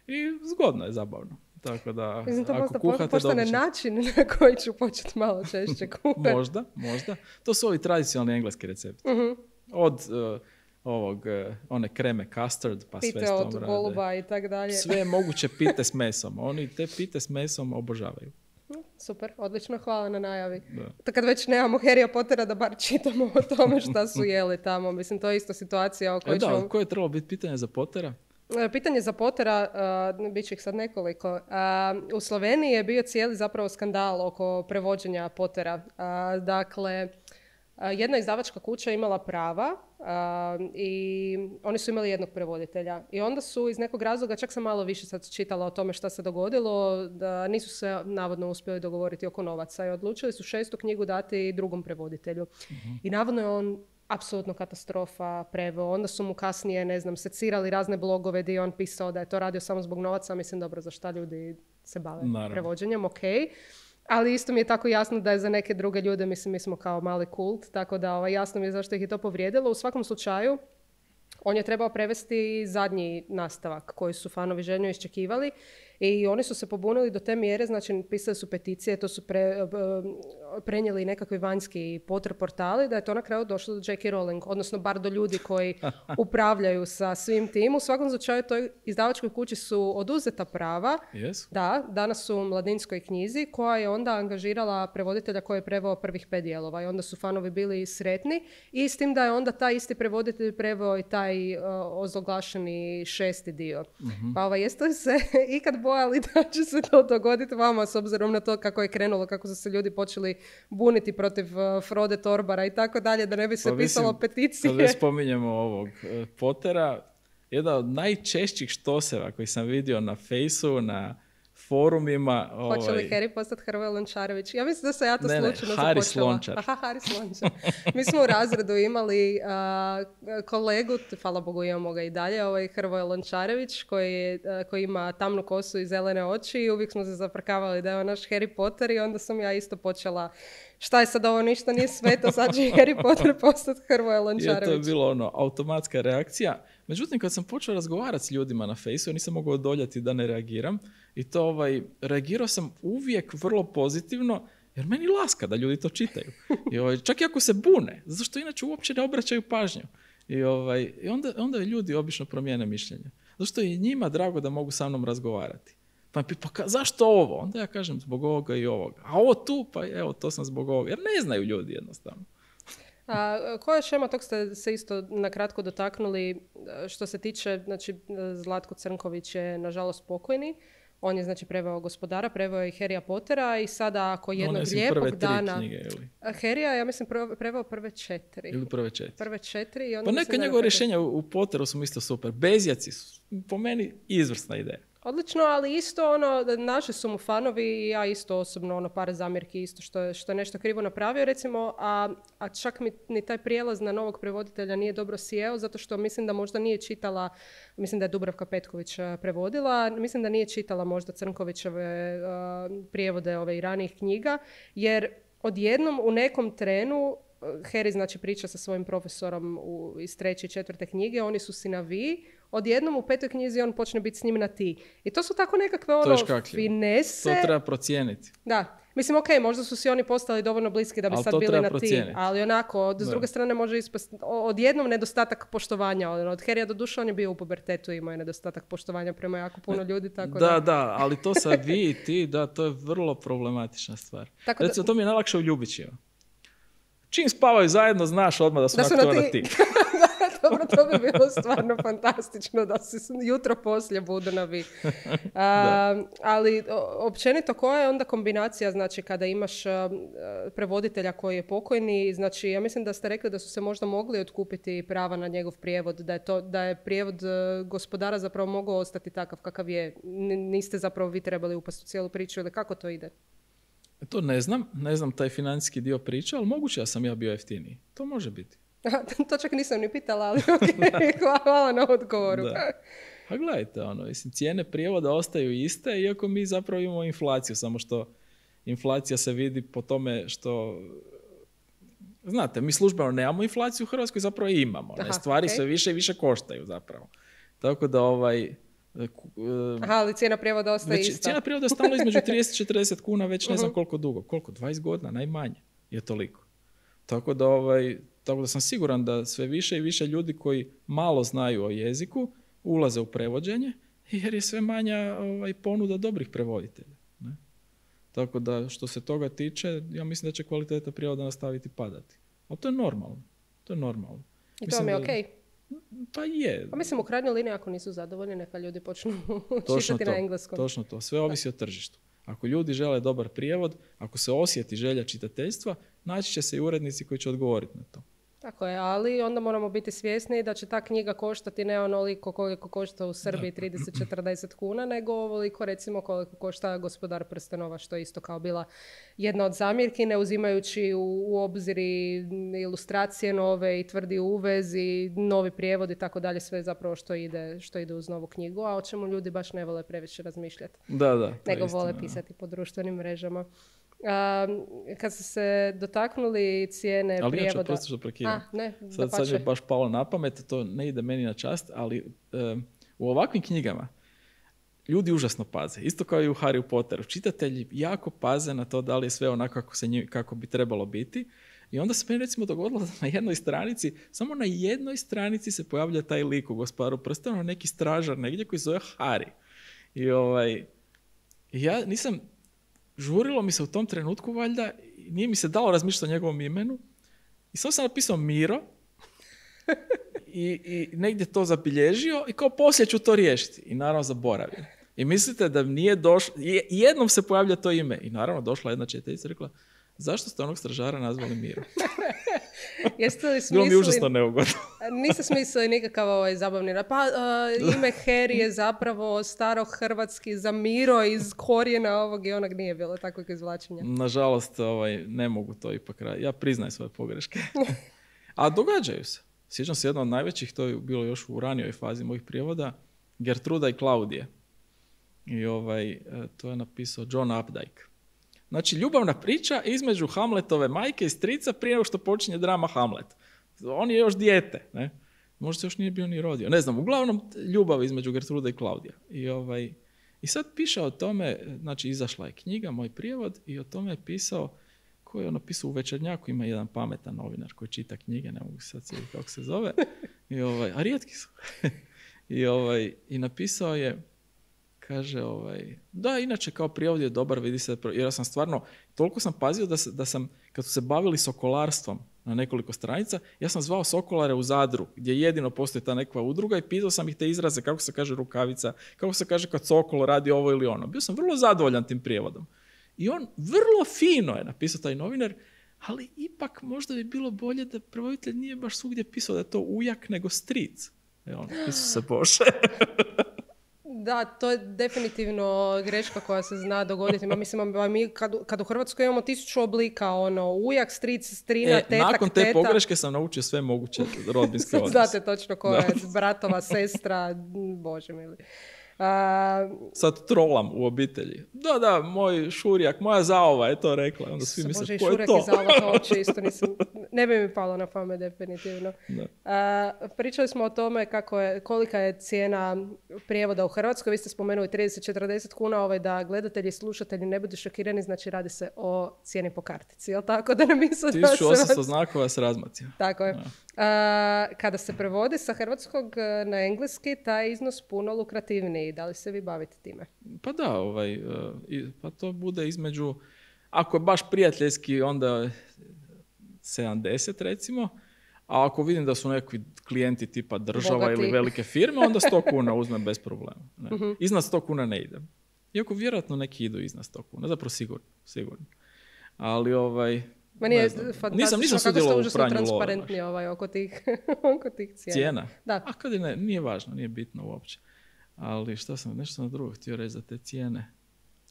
I zgodno je, zabavno. Tako da, Mislim, to ako možda kuhate, postane dobit ćete. način na koji ću početi malo češće kuhati. Možda, možda. To su ovi tradicionalni engleski recepti. Uh-huh. Od uh, ovog, uh, one kreme custard, pa sve Pite s tom od rade. goluba i tak dalje. Sve je moguće pite s mesom. Oni te pite s mesom obožavaju. Super, odlično, hvala na najavi. Da. To kad već nemamo Harrya Pottera da bar čitamo o tome šta su jeli tamo. Mislim, to je isto situacija o E kojoj da, ćemo... koje je trebalo biti pitanje za Pottera? Pitanje za Pottera, uh, bit će ih sad nekoliko. Uh, u Sloveniji je bio cijeli zapravo skandal oko prevođenja Pottera. Uh, dakle, uh, jedna izdavačka kuća je imala prava uh, i oni su imali jednog prevoditelja. I onda su iz nekog razloga, čak sam malo više sad čitala o tome šta se dogodilo, da nisu se navodno uspjeli dogovoriti oko novaca i odlučili su šestu knjigu dati drugom prevoditelju. Uh-huh. I navodno je on apsolutno katastrofa preveo. Onda su mu kasnije, ne znam, secirali razne blogove gdje je on pisao da je to radio samo zbog novaca. Mislim, dobro, za šta ljudi se bave Naravno. prevođenjem, ok. Ali isto mi je tako jasno da je za neke druge ljude, mislim, mi smo kao mali kult, tako da ovaj, jasno mi je zašto ih je to povrijedilo. U svakom slučaju, on je trebao prevesti zadnji nastavak koji su fanovi željno iščekivali i oni su se pobunili do te mjere, znači pisali su peticije, to su pre, prenijeli nekakvi vanjski Potter portali, da je to na kraju došlo do J K. Rowling, odnosno bar do ljudi koji upravljaju sa svim tim. U svakom slučaju toj izdavačkoj kući su oduzeta prava. Yes. Da, danas su u Mladinskoj knjizi koja je onda angažirala prevoditelja koji je preveo prvih pet dijelova i onda su fanovi bili sretni i s tim da je onda taj isti prevoditelj preveo i taj uh, ozloglašeni šesti dio. Mm-hmm. Pa ovaj, jeste li se ikad bojali da će se to dogoditi vama s obzirom na to kako je krenulo, kako su se ljudi počeli buniti protiv uh, Frode Torbara i tako dalje, da ne bi se pa pisalo mislim, peticije? Kad već spominjemo ovog uh, Pottera, jedan od najčešćih štoseva koji sam vidio na Fejsu, na forumima... Hoće li ovaj... Harry postati Hrvoje Lončarević? Ja mislim da se ja to ne, slučajno ne, Haris započela. Lončar. Aha, Haris Lončar. Mi smo u razredu imali uh, kolegu, hvala Bogu imamo ga i dalje, ovaj Hrvoje Lončarević koji, je, uh, koji ima tamnu kosu i zelene oči i uvijek smo se zaprkavali da je on naš Harry Potter i onda sam ja isto počela šta je sad ovo, ništa nije sveto, sad će Harry Potter postati Hrvoje Lončarević. I to je bilo ono, automatska reakcija. Međutim, kad sam počeo razgovarati s ljudima na Fejsu, nisam mogao odoljati da ne reagiram. I to ovaj, reagirao sam uvijek vrlo pozitivno, Jer meni laska da ljudi to čitaju. I ovaj, čak i ako se bune, zato što inače uopće ne obraćaju pažnju. I, ovaj, i onda, onda ljudi obično promijene mišljenje. Zato što je njima drago da mogu sa mnom razgovarati. Pa mi pa ka, zašto ovo? Onda ja kažem zbog ovoga i ovoga. A ovo tu, pa evo, to sam zbog ovoga. Jer ne znaju ljudi jednostavno. A koja je šema, tog ste se isto nakratko dotaknuli, što se tiče, znači Zlatko Crnković je nažalost pokojni, on je znači preveo Gospodara, preveo je i Harrya Pottera i sada ako jednog One, lijepog prve dana... Knjige, ili? Harrya, ja mislim, preveo prve četiri. Ili prve četiri. Prve četiri i onda pa neka njegove rješenja u, u Potteru su isto super. Bezjaci su, po meni, izvrsna ideja. Odlično, ali isto ono, naši su mu fanovi i ja isto osobno ono par zamjerki isto što je, što je nešto krivo napravio recimo, a, a čak mi ni taj prijelaz na novog prevoditelja nije dobro sjeo zato što mislim da možda nije čitala, mislim da je Dubravka Petković prevodila, mislim da nije čitala možda Crnkovićeve uh, prijevode ove i ranijih knjiga, jer odjednom u nekom trenu Harry znači priča sa svojim profesorom u, iz treće i četvrte knjige, oni su si na vi, odjednom u petoj knjizi on počne biti s njim na ti. I to su tako nekakve ono finese. To treba procijeniti. Da. Mislim, ok, možda su si oni postali dovoljno bliski da bi ali sad bili na procijeniti. ti. Ali onako, s druge strane može ispast odjednom nedostatak poštovanja. Od Harrya do duše on je bio u pubertetu i imao je nedostatak poštovanja prema jako puno ljudi. Tako da, da, da, ali to sa vi i ti, da, to je vrlo problematična stvar. Tako Recimo, da... to mi je najlakše u Ljubićima. Čim spavaju zajedno, znaš odmah da su, da su na, na ti. ti. Dobro, to bi bilo stvarno fantastično da se jutro poslije budu na vi. A, ali općenito koja je onda kombinacija, znači kada imaš a, prevoditelja koji je pokojni, znači ja mislim da ste rekli da su se možda mogli otkupiti prava na njegov prijevod, da je, to, da je prijevod Gospodara zapravo mogao ostati takav kakav je. N- niste zapravo vi trebali upasti u cijelu priču ili kako to ide? To ne znam, ne znam taj financijski dio priče, ali moguće da sam ja bio jeftiniji. To može biti. To čak nisam ni pitala, ali okay. Hvala na odgovoru. Da. A gledajte, ono, mislim, cijene prijevoda ostaju iste, iako mi zapravo imamo inflaciju, samo što inflacija se vidi po tome što... Znate, mi službeno nemamo inflaciju u Hrvatskoj, zapravo imamo. Aha, ne? Stvari okay. sve više i više koštaju zapravo. Tako da ovaj... Aha, ali cijena prijevoda ostaje već, ista. Cijena prijevoda je stalno između trideset i četrdeset kuna, već ne znam uh-huh. koliko dugo. Koliko? dvadeset godina, najmanje je toliko. Tako da, ovaj, tako da sam siguran da sve više i više ljudi koji malo znaju o jeziku ulaze u prevođenje, jer je sve manja ovaj, ponuda dobrih prevoditelja. Ne? Tako da, što se toga tiče, ja mislim da će kvaliteta prijevoda nastaviti padati. Ali to je normalno. To je normalno. I to mi je okej. Okay. Pa je. Pa mislim, u krajnjoj liniji ako nisu zadovoljni, neka ljudi počnu čitati to, na engleskom. Točno to. Sve ovisi o tržištu. Ako ljudi žele dobar prijevod, ako se osjeti želja čitateljstva, naći će se i urednici koji će odgovoriti na to. Tako je, ali onda moramo biti svjesni da će ta knjiga koštati ne onoliko koliko košta u Srbiji trideset do četrdeset kuna, nego ovoliko recimo koliko košta Gospodar prstenova, što je isto kao bila jedna od zamjerki, ne uzimajući u, u obzir ilustracije nove i tvrdi uvez i novi prijevod i tako dalje, sve zapravo što ide, što ide uz novu knjigu, a o čemu ljudi baš ne vole previše razmišljati. Da, da. Nego vole istina, pisati po društvenim mrežama. Um, kad ste se dotaknuli cijene ali prijevoda... Ali prosto što prekidam. Ne, sad, sad je baš palo na pamet, to ne ide meni na čast, ali um, u ovakvim knjigama ljudi užasno paze. Isto kao i u Harry Potteru. Čitatelji jako paze na to da li je sve onako kako, se njim, kako bi trebalo biti. I onda se meni recimo dogodilo da na jednoj stranici, samo na jednoj stranici se pojavlja taj lik u Gospodaru prstenova, neki stražar negdje koji zove Harry. I ovaj, ja nisam... Žurilo mi se u tom trenutku, valjda, nije mi se dalo razmišljati o njegovom imenu. I samo sam napisao Miro i, i negdje to zabilježio i kao poslije ću to riješiti. I naravno zaboravim. I mislite da nije došlo, jednom se pojavlja to ime. I naravno došla jedna čitateljica i rekla, zašto ste onog stražara nazvali Miro? Jeste li smislili... Bilo mi užasno neugodno. Niste smislili nikakav ovaj zabavni... Pa uh, ime Harry je zapravo starohrvatski za Miro iz korijena ovog i onog, nije bilo takvog izvlačenja. Nažalost, ovaj, ne mogu to ipak raditi. Ja priznajem svoje pogreške. A događaju se. Sjećam se jedno od najvećih, to je bilo još u ranijoj fazi mojih prijevoda, Gertruda i Klaudije. I ovaj, to je napisao John Updike. Znači, ljubavna priča između Hamletove majke i strica prije nego što počinje drama Hamlet. On je još dijete, ne? Možda se još nije bio ni rodio. Ne znam, uglavnom ljubav između Gertrude i Klaudija. I, ovaj, i sad piše o tome, znači izašla je knjiga, moj prijevod, i o tome je pisao ko je on napisao u Večernjaku, ima jedan pametan novinar koji čita knjige, ne mogu sad sjetiti kako se zove, I ovaj, a rijetki su. I, ovaj, I napisao je, kaže, ovaj, da, inače kao prijevod je dobar, vidi se, jer ja sam stvarno, toliko sam pazio da, se, da sam, kad su se bavili sokolarstvom na nekoliko stranica, ja sam zvao sokolare u Zadru, gdje jedino postoji ta nekakva udruga i pitao sam ih te izraze, kako se kaže rukavica, kako se kaže kad sokol radi ovo ili ono. Bio sam vrlo zadovoljan tim prijevodom. I on vrlo fino je napisao taj novinar, ali ipak možda bi bilo bolje da prevoditelj nije baš svugdje pisao da je to ujak nego stric. E on, Isuse Bože. Da, to je definitivno greška koja se zna dogoditi. Ma mislim, mi kad, kad u Hrvatskoj imamo tisuću oblika, ono, ujak, stric, strina, e, tetak, nakon te teta. pogreške sam naučio sve moguće rodbinske odnose. Znate točno ko je bratova, sestra, Bože mili. Uh, Sad trolam u obitelji. Da, da, moj šurjak, moja zaova je to rekla. Onda svi misle, Bože, ko je šurjak to? I zaova, to uopće isto nisam, ne bi mi palo na pamet definitivno. Uh, pričali smo o tome kako je, kolika je cijena prijevoda u Hrvatskoj. Vi ste spomenuli trideset do četrdeset kuna, ovaj, da gledatelji i slušatelji ne budu šokirani, znači radi se o cijeni po kartici, jel tako? Da ne misle da se... tisuću osamsto znakova s razmacima. Tako je. Ja. Uh, kada se prevodi sa hrvatskog na engleski, taj iznos puno lukrativniji. Da li se vi bavite time? Pa da, ovaj, uh, i, pa to bude između, ako je baš prijateljski, onda sedamdeset recimo, a ako vidim da su neki klijenti tipa država Bogati. Ili velike firme, onda sto kuna uzmem bez problema. Ne. Uh-huh. Iznad sto kuna ne idem. Iako vjerojatno neki idu iznad sto kuna, zapravo sigurno, sigurno. Ali ovaj... Meni je fantastično nisam, nisam kako ste u užasno transparentni ovaj, oko, tih, oko tih cijena. Cijena? Da. A kad je ne, nije važno, nije bitno uopće. Ali šta sam, nešto sam drugo htio reći za te cijene.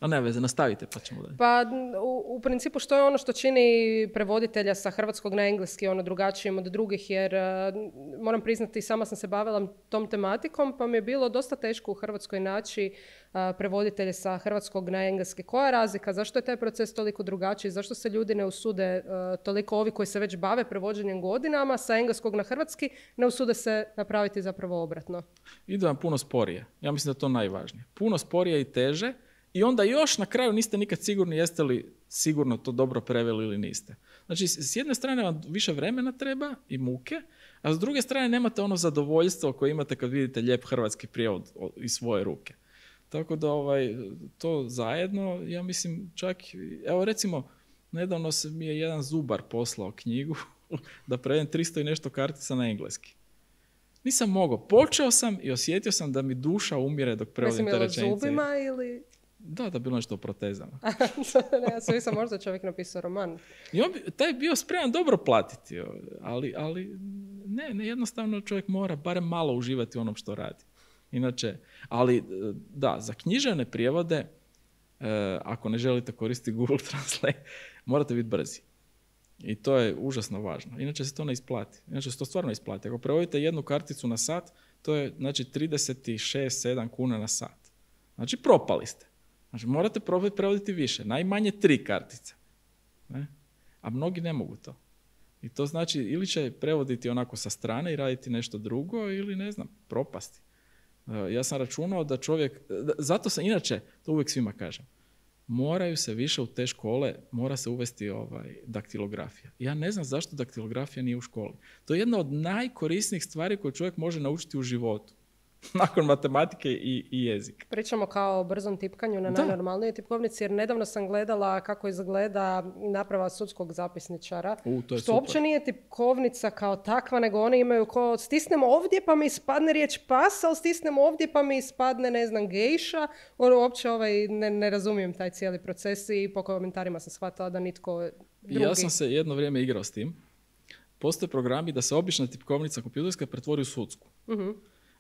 A ne veze, nastavite pa ćemo dalje. Pa u, u principu što je ono što čini prevoditelja sa hrvatskog na engleski ono drugačijim od drugih, jer uh, moram priznati sama sam se bavila tom tematikom pa mi je bilo dosta teško u Hrvatskoj naći uh, prevoditelje sa hrvatskog na engleski. Koja je razlika? Zašto je taj proces toliko drugačiji? Zašto se ljudi ne usude, uh, toliko ovi koji se već bave prevođenjem godinama sa engleskog na hrvatski, ne usude se napraviti zapravo obratno? Ide vam puno sporije. Ja mislim da je to najvažnije. Puno sporije i teže. I onda još na kraju niste nikad sigurni jeste li sigurno to dobro preveli ili niste. Znači, s jedne strane vam više vremena treba i muke, a s druge strane nemate ono zadovoljstvo koje imate kad vidite lijep hrvatski prijevod iz svoje ruke. Tako da ovaj, to zajedno, ja mislim čak, evo recimo, nedavno se mi je jedan zubar poslao knjigu da prevedem tristo i nešto kartica na engleski. Nisam mogao. Počeo sam i osjetio sam da mi duša umire dok prevodim te rečenice. Mislim, je li zubima ili... Da, da bilo nešto o protezama. Ja sam sam možda čovjek napisao roman. I on bi, taj bio spreman dobro platiti, ali, ali ne, ne, jednostavno čovjek mora barem malo uživati u onom što radi. Inače, ali da, za književne prijevode, eh, ako ne želite koristiti Google Translate, morate biti brzi. I to je užasno važno. Inače se to ne isplati. Inače se to stvarno isplati. Ako prevodite jednu karticu na sat, to je znači trideset šest sedam kuna na sat. Znači propali ste. Znači, morate probati prevoditi više. Najmanje tri kartice. Ne? A mnogi ne mogu to. I to znači ili će prevoditi onako sa strane i raditi nešto drugo ili ne znam, propasti. Ja sam računao da čovjek, zato sam inače, to uvijek svima kažem, moraju se više u te škole, mora se uvesti ovaj, daktilografija. Ja ne znam zašto daktilografija nije u školi. To je jedna od najkorisnijih stvari koje čovjek može naučiti u životu. Nakon matematike i, i jezika. Pričamo kao o brzom tipkanju na da. najnormalnijoj tipkovnici, jer nedavno sam gledala kako izgleda naprava sudskog zapisničara. U, to je što super. uopće nije tipkovnica kao takva, nego oni imaju ko stisnem ovdje pa mi ispadne riječ pas, ali stisnem ovdje pa mi ispadne, ne znam, gejša. Ono, uopće ovaj, ne, ne razumijem taj cijeli proces i po komentarima sam shvatila da nitko drugi... Ja sam se jedno vrijeme igrao s tim. Postoje programi da se obična tipkovnica kompjuterska pretvori u sudsku. Uh-huh.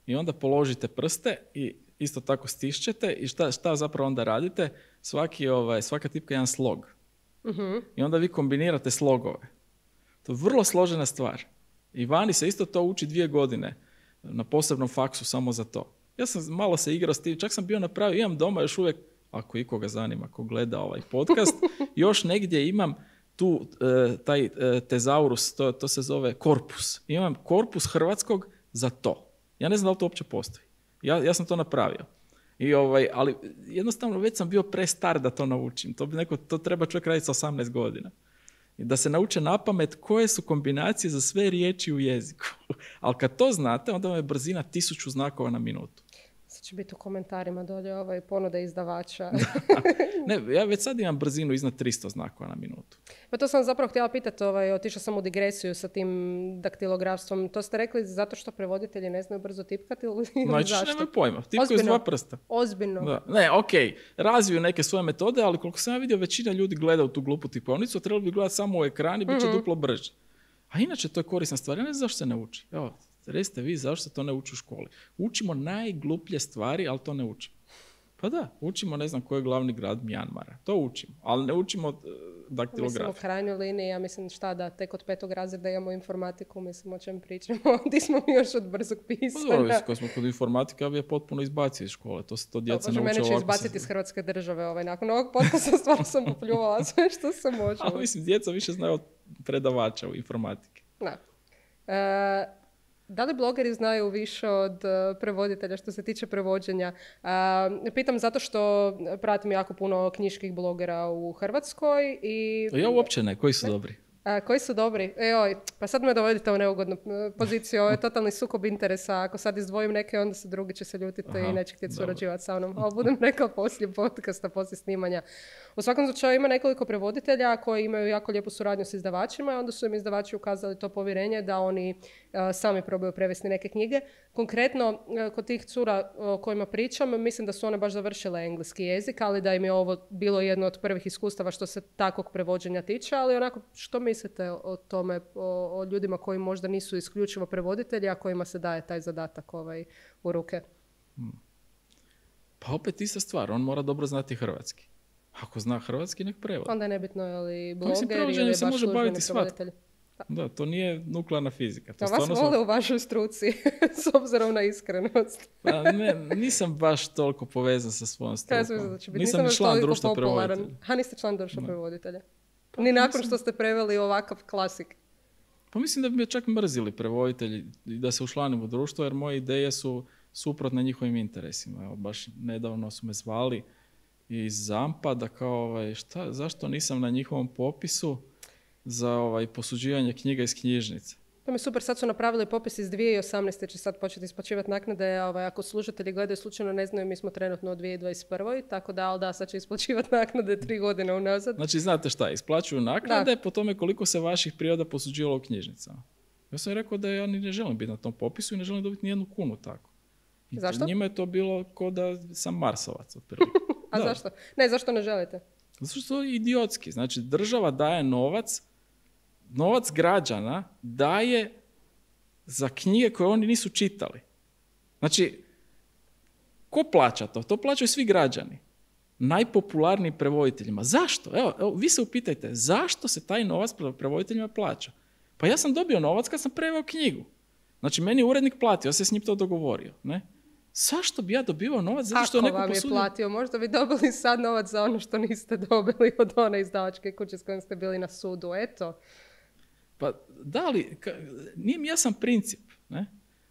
I onda položite prste i isto tako stišćete i šta, šta zapravo onda radite? Svaki, ovaj, svaka tipka je jedan slog. Uh-huh. I onda vi kombinirate slogove. To je vrlo složena stvar. I vani se isto to uči dvije godine na posebnom faksu samo za to. Ja sam malo se igrao s tim, čak sam bio napravio, imam doma još uvijek, ako ikoga zanima, ko gleda ovaj podcast, još negdje imam tu e, taj e, tezaurus, to, to se zove korpus. Imam korpus hrvatskog za to. Ja ne znam da li to uopće postoji. Ja, ja sam to napravio. I ovaj, ali jednostavno već sam bio prestar da to naučim. To, bi neko, to treba čovjek raditi sa osamnaest godina. da se nauče napamet koje su kombinacije za sve riječi u jeziku. Ali kad to znate, onda vam je brzina tisuću znakova na minutu. Sad će biti u komentarima dolje ovaj ponude izdavača. Ne, ja već sad imam brzinu iznad tristo znakova na minutu. Pa to sam zapravo htjela pitati, ovaj, otišla sam u digresiju sa tim daktilografstvom. To ste rekli zato što prevoditelji ne znaju brzo tipkati ili znači, zašto? Nemaju pojma, tipkaju s dva prsta. Ozbiljno. Da. Ne, ok, razviju neke svoje metode, ali koliko sam ja vidio, većina ljudi gleda u tu glupu tipovnicu, trebalo bi gledati samo u ekran i bit će mm-hmm. duplo brže. A inače, to je korisna stvar. Ja ne znam zašto se ne uči. Evo, recite vi zašto se to ne uči u školi. Učimo najgluplje stvari, ali to ne učimo. Pa da, učimo ne znam koji je glavni grad Mjanmara. To učimo, ali ne učimo uh, daktilografiju. Mislim u krajnjoj liniji, ja mislim šta da tek od petog razreda imamo informatiku, mislim o čem pričamo. Di smo mi još od brzog pisanja. Pa dobro, kad smo kod informatike, ja bi je potpuno izbacio iz škole. To se to djeca nauče ovako. Mene će izbaciti se... iz Hrvatske države. Ovaj. Nakon ovog podcasta stvarno sam upljuvala sve što se može. Ali mislim, djeca više znaju od predavača u informatike. Da. E, Da li blogeri znaju više od uh, prevoditelja što se tiče prevođenja? Uh, pitam zato što pratim jako puno knjiških blogera u Hrvatskoj. I... Ja uopće ne. Koji su ne? dobri? A, koji su dobri? Eoj, pa sad me dovodite u neugodnu poziciju. Ovo je totalni sukob interesa. Ako sad izdvojim neke, onda se drugi će se ljutiti Aha, i neće htjeti surađivati sa mnom. Ali budem rekla poslije podcasta, poslije snimanja. U svakom slučaju ima nekoliko prevoditelja koji imaju jako lijepu suradnju s izdavačima i onda su im izdavači ukazali to povjerenje da oni uh, sami probaju prevesti neke knjige. Konkretno, uh, kod tih cura o kojima pričam, mislim da su one baš završile engleski jezik, ali da im je ovo bilo jedno od prvih iskustava što se takvog prevođenja tiče, ali onako, što mislite o tome, o, o ljudima koji možda nisu isključivo prevoditelji, a kojima se daje taj zadatak ovaj, u ruke? Hmm. Pa opet ista stvar, on mora dobro znati hrvatski. Ako zna hrvatski, nek prevodi. Onda je nebitno je li bloger ili je baš službeni prevoditelj. Da, to nije nuklearna fizika. To a vas vole smo... u vašoj struci, s obzirom na iskrenost. Pa ne, nisam baš toliko povezan sa svojom strukom. Da će biti. Nisam, nisam član društva prevoditelja. Ha, niste član društva prevoditelja. Pa, Ni nakon mislim... što ste preveli ovakav klasik. Pa mislim da bi me čak mrzili prevoditelji da se učlanim u društvo, jer moje ideje su suprotne njihovim interesima. Evo, baš nedavno su me zvali iz Zampa da kao, ovaj, šta, zašto nisam na njihovom popisu za ovaj, posuđivanje knjiga iz knjižnice. To mi super, sad su napravili popis iz dvije tisuće osamnaeste. će sad početi isplaćivati naknade. Ovaj, ako slušatelji gledaju slučajno ne znaju, mi smo trenutno u dvije tisuće dvadeset prve. Tako da, ali da, sad će isplaćivati naknade tri godine unazad. Znači, znate šta, isplaćuju naknade da. po tome koliko se vaših priroda posuđivalo u knjižnicama. Ja sam rekao da ja ni ne želim biti na tom popisu i ne želim dobiti nijednu kunu tako. I zašto? Njima je to bilo kao da sam Marsovac. Otprilike. A da. zašto? Ne, zašto ne želite? Zato što je idiotski. Znači, država daje novac, novac građana daje za knjige koje oni nisu čitali. Znači, ko plaća to? To plaćaju svi građani. Najpopularnijim prevoditeljima. Zašto? Evo, evo, vi se upitajte, zašto se taj novac prevoditeljima plaća? Pa ja sam dobio novac kad sam preveo knjigu. Znači, meni je urednik platio, ja sam s njim to dogovorio. Ne? Zašto bi ja dobivao novac? Zato što Ako neko vam je posudio... platio, možda bi dobili sad novac za ono što niste dobili od one izdavačke kuće s kojim ste bili na sudu. Eto. Pa da li, ka, nije mi jasan princip. Ne?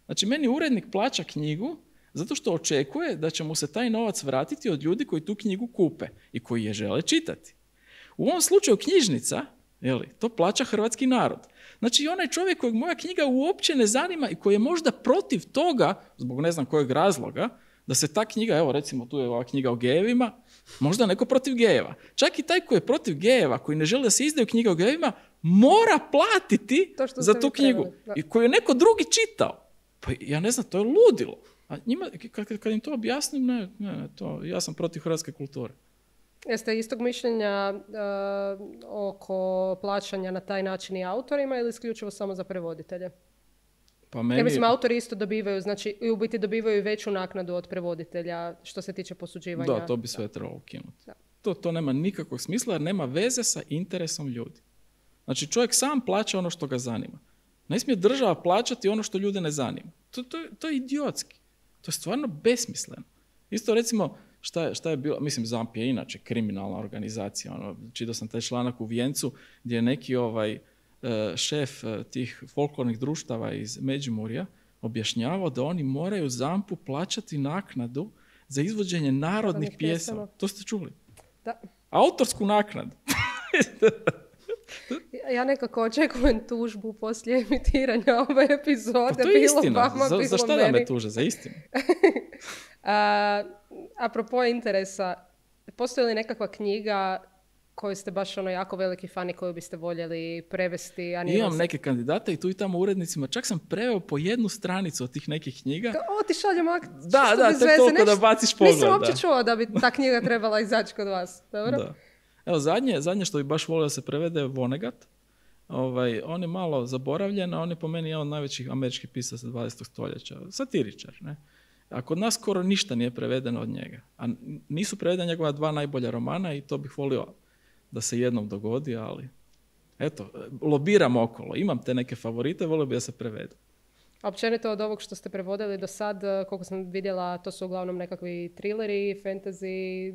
Znači, meni urednik plaća knjigu zato što očekuje da će mu se taj novac vratiti od ljudi koji tu knjigu kupe i koji je žele čitati. U ovom slučaju knjižnica, jeli, to plaća hrvatski narod. Znači, onaj čovjek kojeg moja knjiga uopće ne zanima i koji je možda protiv toga, zbog ne znam kojeg razloga, da se ta knjiga, evo recimo tu je ova knjiga o gejevima, možda neko protiv gejeva. Čak i taj koji je protiv gejeva, koji ne želi da se izdaju knjiga o gejevima, mora platiti za tu knjigu. I koju je neko drugi čitao. Pa ja ne znam, to je ludilo. A njima, kad, kad im to objasnim, ne, ne, ne, to, ja sam protiv hrvatske kulture. Jeste istog mišljenja uh, oko plaćanja na taj način i autorima ili isključivo samo za prevoditelje? Pa meni... Ja mislim, autori isto dobivaju, znači i u biti dobivaju veću naknadu od prevoditelja što se tiče posuđivanja. Da, to bi sve trebalo ukinuti. To, to nema nikakvog smisla jer nema veze sa interesom ljudi. Znači čovjek sam plaća ono što ga zanima. Ne smije država plaćati ono što ljude ne zanima. To, to, to je idiotski. To je stvarno besmisleno. Isto recimo, šta je, šta je bilo, mislim Zamp je inače kriminalna organizacija. Ono, čitao sam taj članak u Vijencu gdje je neki ovaj šef tih folklornih društava iz Međimurja objašnjavao da oni moraju Zampu plaćati naknadu za izvođenje narodnih pjesama. To ste čuli? Da. Autorsku naknadu. Ja nekako očekujem tužbu poslije emitiranja ove epizode. Pa to je bilo istina. Vama, za, bilo za šta da meni. me tuže? Za istinu. A, apropo interesa, postoji li nekakva knjiga koju ste baš ono jako veliki fan i koju biste voljeli prevesti? A nije Imam vas- neke kandidate i tu i tamo urednicima. Čak sam preveo po jednu stranicu od tih nekih knjiga. O, ti šaljem akt. Da, čisto da, bez tek veze, toliko da nešto- baciš pogled. Nisam uopće da. čuo da bi ta knjiga trebala izaći kod vas. Dobro? Da. Evo, zadnje, zadnje što bi baš volio da se prevede je Vonnegut. Ovaj, on je malo zaboravljen, a on je po meni jedan od najvećih američkih pisaca dvadesetog stoljeća. Satiričar, ne? A kod nas skoro ništa nije prevedeno od njega. A nisu prevedena njegova dva najbolja romana i to bih volio da se jednom dogodi, ali eto, lobiram okolo. Imam te neke favorite, volio bi da se prevedu. A općenito od ovog što ste prevodili do sad, eh, koliko sam vidjela, to su uglavnom nekakvi thrilleri, fantasy.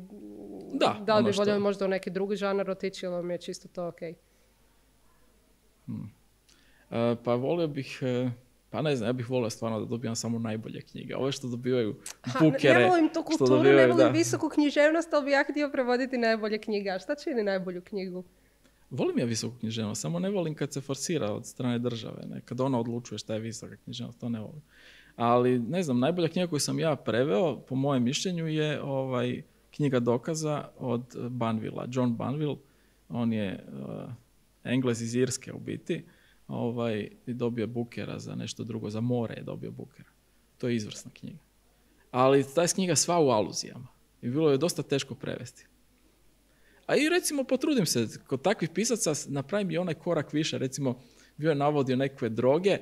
Da, Da li ono bi što- voljeli možda u neki drugi žanar otići ili vam je čisto to ok? E, pa volio bih, e, pa ne znam, ja bih volio stvarno da dobijam samo najbolje knjige. Ove što dobivaju Ha, ne, bukere. ne volim tu što kulturu, ne dobivaju, volim da. visoku književnost, ali bi ja htio prevoditi najbolje knjige. A šta čini najbolju knjigu? Volim ja visoku književnost, samo ne volim kad se forsira od strane države. Ne? Kad ona odlučuje šta je visoka književnost, to ne volim. Ali, ne znam, najbolja knjiga koju sam ja preveo, po mojem mišljenju, je ovaj, knjiga dokaza od Banvilla. John Banville, on je uh, Englez iz Irske u biti, ovaj, i dobio Bookera za nešto drugo, za more je dobio Bookera. To je izvrsna knjiga. Ali ta je knjiga sva u aluzijama i bilo je dosta teško prevesti. A i recimo potrudim se, kod takvih pisaca napravim i onaj korak više, recimo bio je navodio nekakve droge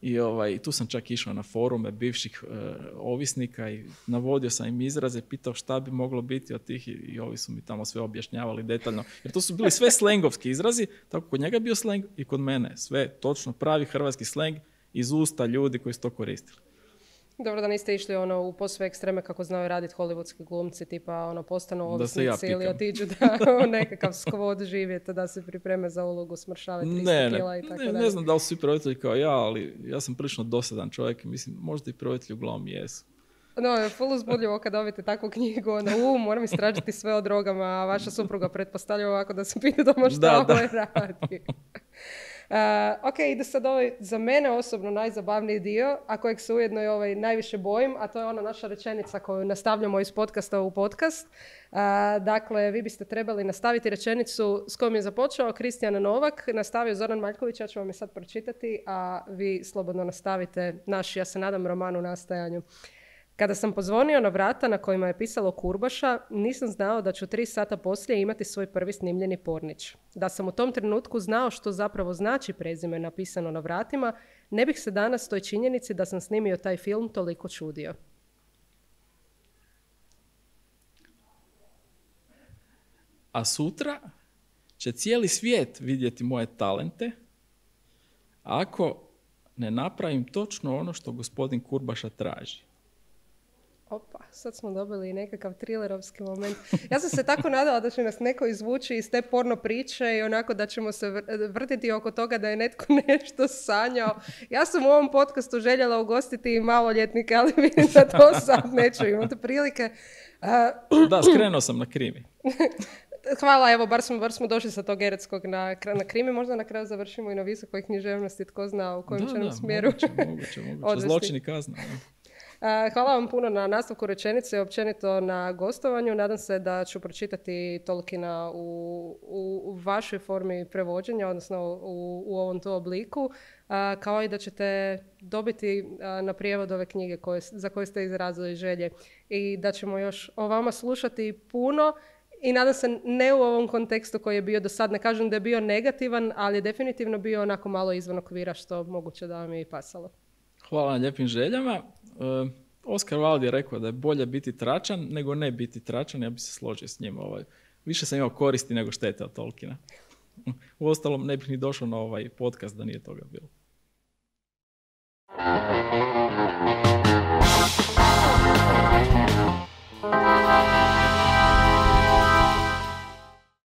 i ovaj, tu sam čak išao na forume bivših e, ovisnika i navodio sam im izraze, pitao šta bi moglo biti od tih i, i ovi su mi tamo sve objašnjavali detaljno. Jer to su bili sve slengovski izrazi, tako kod njega je bio sleng i kod mene. Sve točno pravi hrvatski sleng iz usta ljudi koji su to koristili. Dobro da niste išli ono u posve ekstreme kako znaju raditi hollywoodski glumci, tipa ono postanu Da se ja ovisnici ili pikam. otiđu da u nekakav skvod živjeti, da se pripreme za ulogu, smršave tristo Ne, kila ne, i tako ne, dalje. ne znam da li su svi prevoditelji kao ja, ali ja sam prilično dosadan čovjek i mislim, možda i prevoditelji uglavnom jesu. No, je full uzbudljivo kad dobijete takvu knjigu, onda u, moram istražiti sve o drogama, a vaša supruga pretpostavlja ovako da se pita doma šta Da, da. ovaj radi. Uh, ok, ide sad ovaj za mene osobno najzabavniji dio, a kojeg se ujedno i ovaj najviše bojim, a to je ona naša rečenica koju nastavljamo iz podcasta u podcast. Uh, dakle, vi biste trebali nastaviti rečenicu s kojom je započeo Kristijan Novak, nastavio Zoran Maljković, ja ću vam je sad pročitati, a vi slobodno nastavite naš, ja se nadam, roman u nastajanju. Kada sam pozvonio na vrata na kojima je pisalo Kurbaša, nisam znao da ću tri sata poslije imati svoj prvi snimljeni pornić. Da sam u tom trenutku znao što zapravo znači prezime napisano na vratima, ne bih se danas toj činjenici da sam snimio taj film toliko čudio. A sutra će cijeli svijet vidjeti moje talente ako ne napravim točno ono što gospodin Kurbaša traži. Opa, sad smo dobili nekakav trilerovski moment. Ja sam se tako nadala da će nas neko izvući iz te porno priče i onako da ćemo se vr- vrtiti oko toga da je netko nešto sanjao. Ja sam u ovom podcastu željela ugostiti i maloljetnike, ali vidim da to sad neću imati prilike. Uh, Da, skrenuo sam na krimi. Hvala, evo, bar smo, bar smo došli sa tog eretskog na, na krimi. Možda na kraju završimo i na visokoj književnosti, tko zna u kojem Da, će nam da, smjeru moguće, moguće, moguće. odvesti. Zločin i kazna. Da. Uh, Hvala vam puno na nastavku rečenice i općenito na gostovanju. Nadam se da ću pročitati Tolkiena u, u, u vašoj formi prevođenja, odnosno u, u ovom to obliku, uh, kao i da ćete dobiti uh, na prijevod ove knjige koje, za koje ste izrazili želje i da ćemo još o vama slušati puno. I nadam se ne u ovom kontekstu koji je bio do sad, ne kažem da je bio negativan, ali je definitivno bio onako malo izvan okvira što moguće da vam je i pasalo. Hvala na lijepim željama. Uh, Oskar Wilde je rekao da je bolje biti tračan nego ne biti tračan. Ja bi se složio s njim. Ovaj. Više sam imao koristi nego štete od Tolkiena. Uostalom, ne bih ni došao na ovaj podcast da nije toga bilo.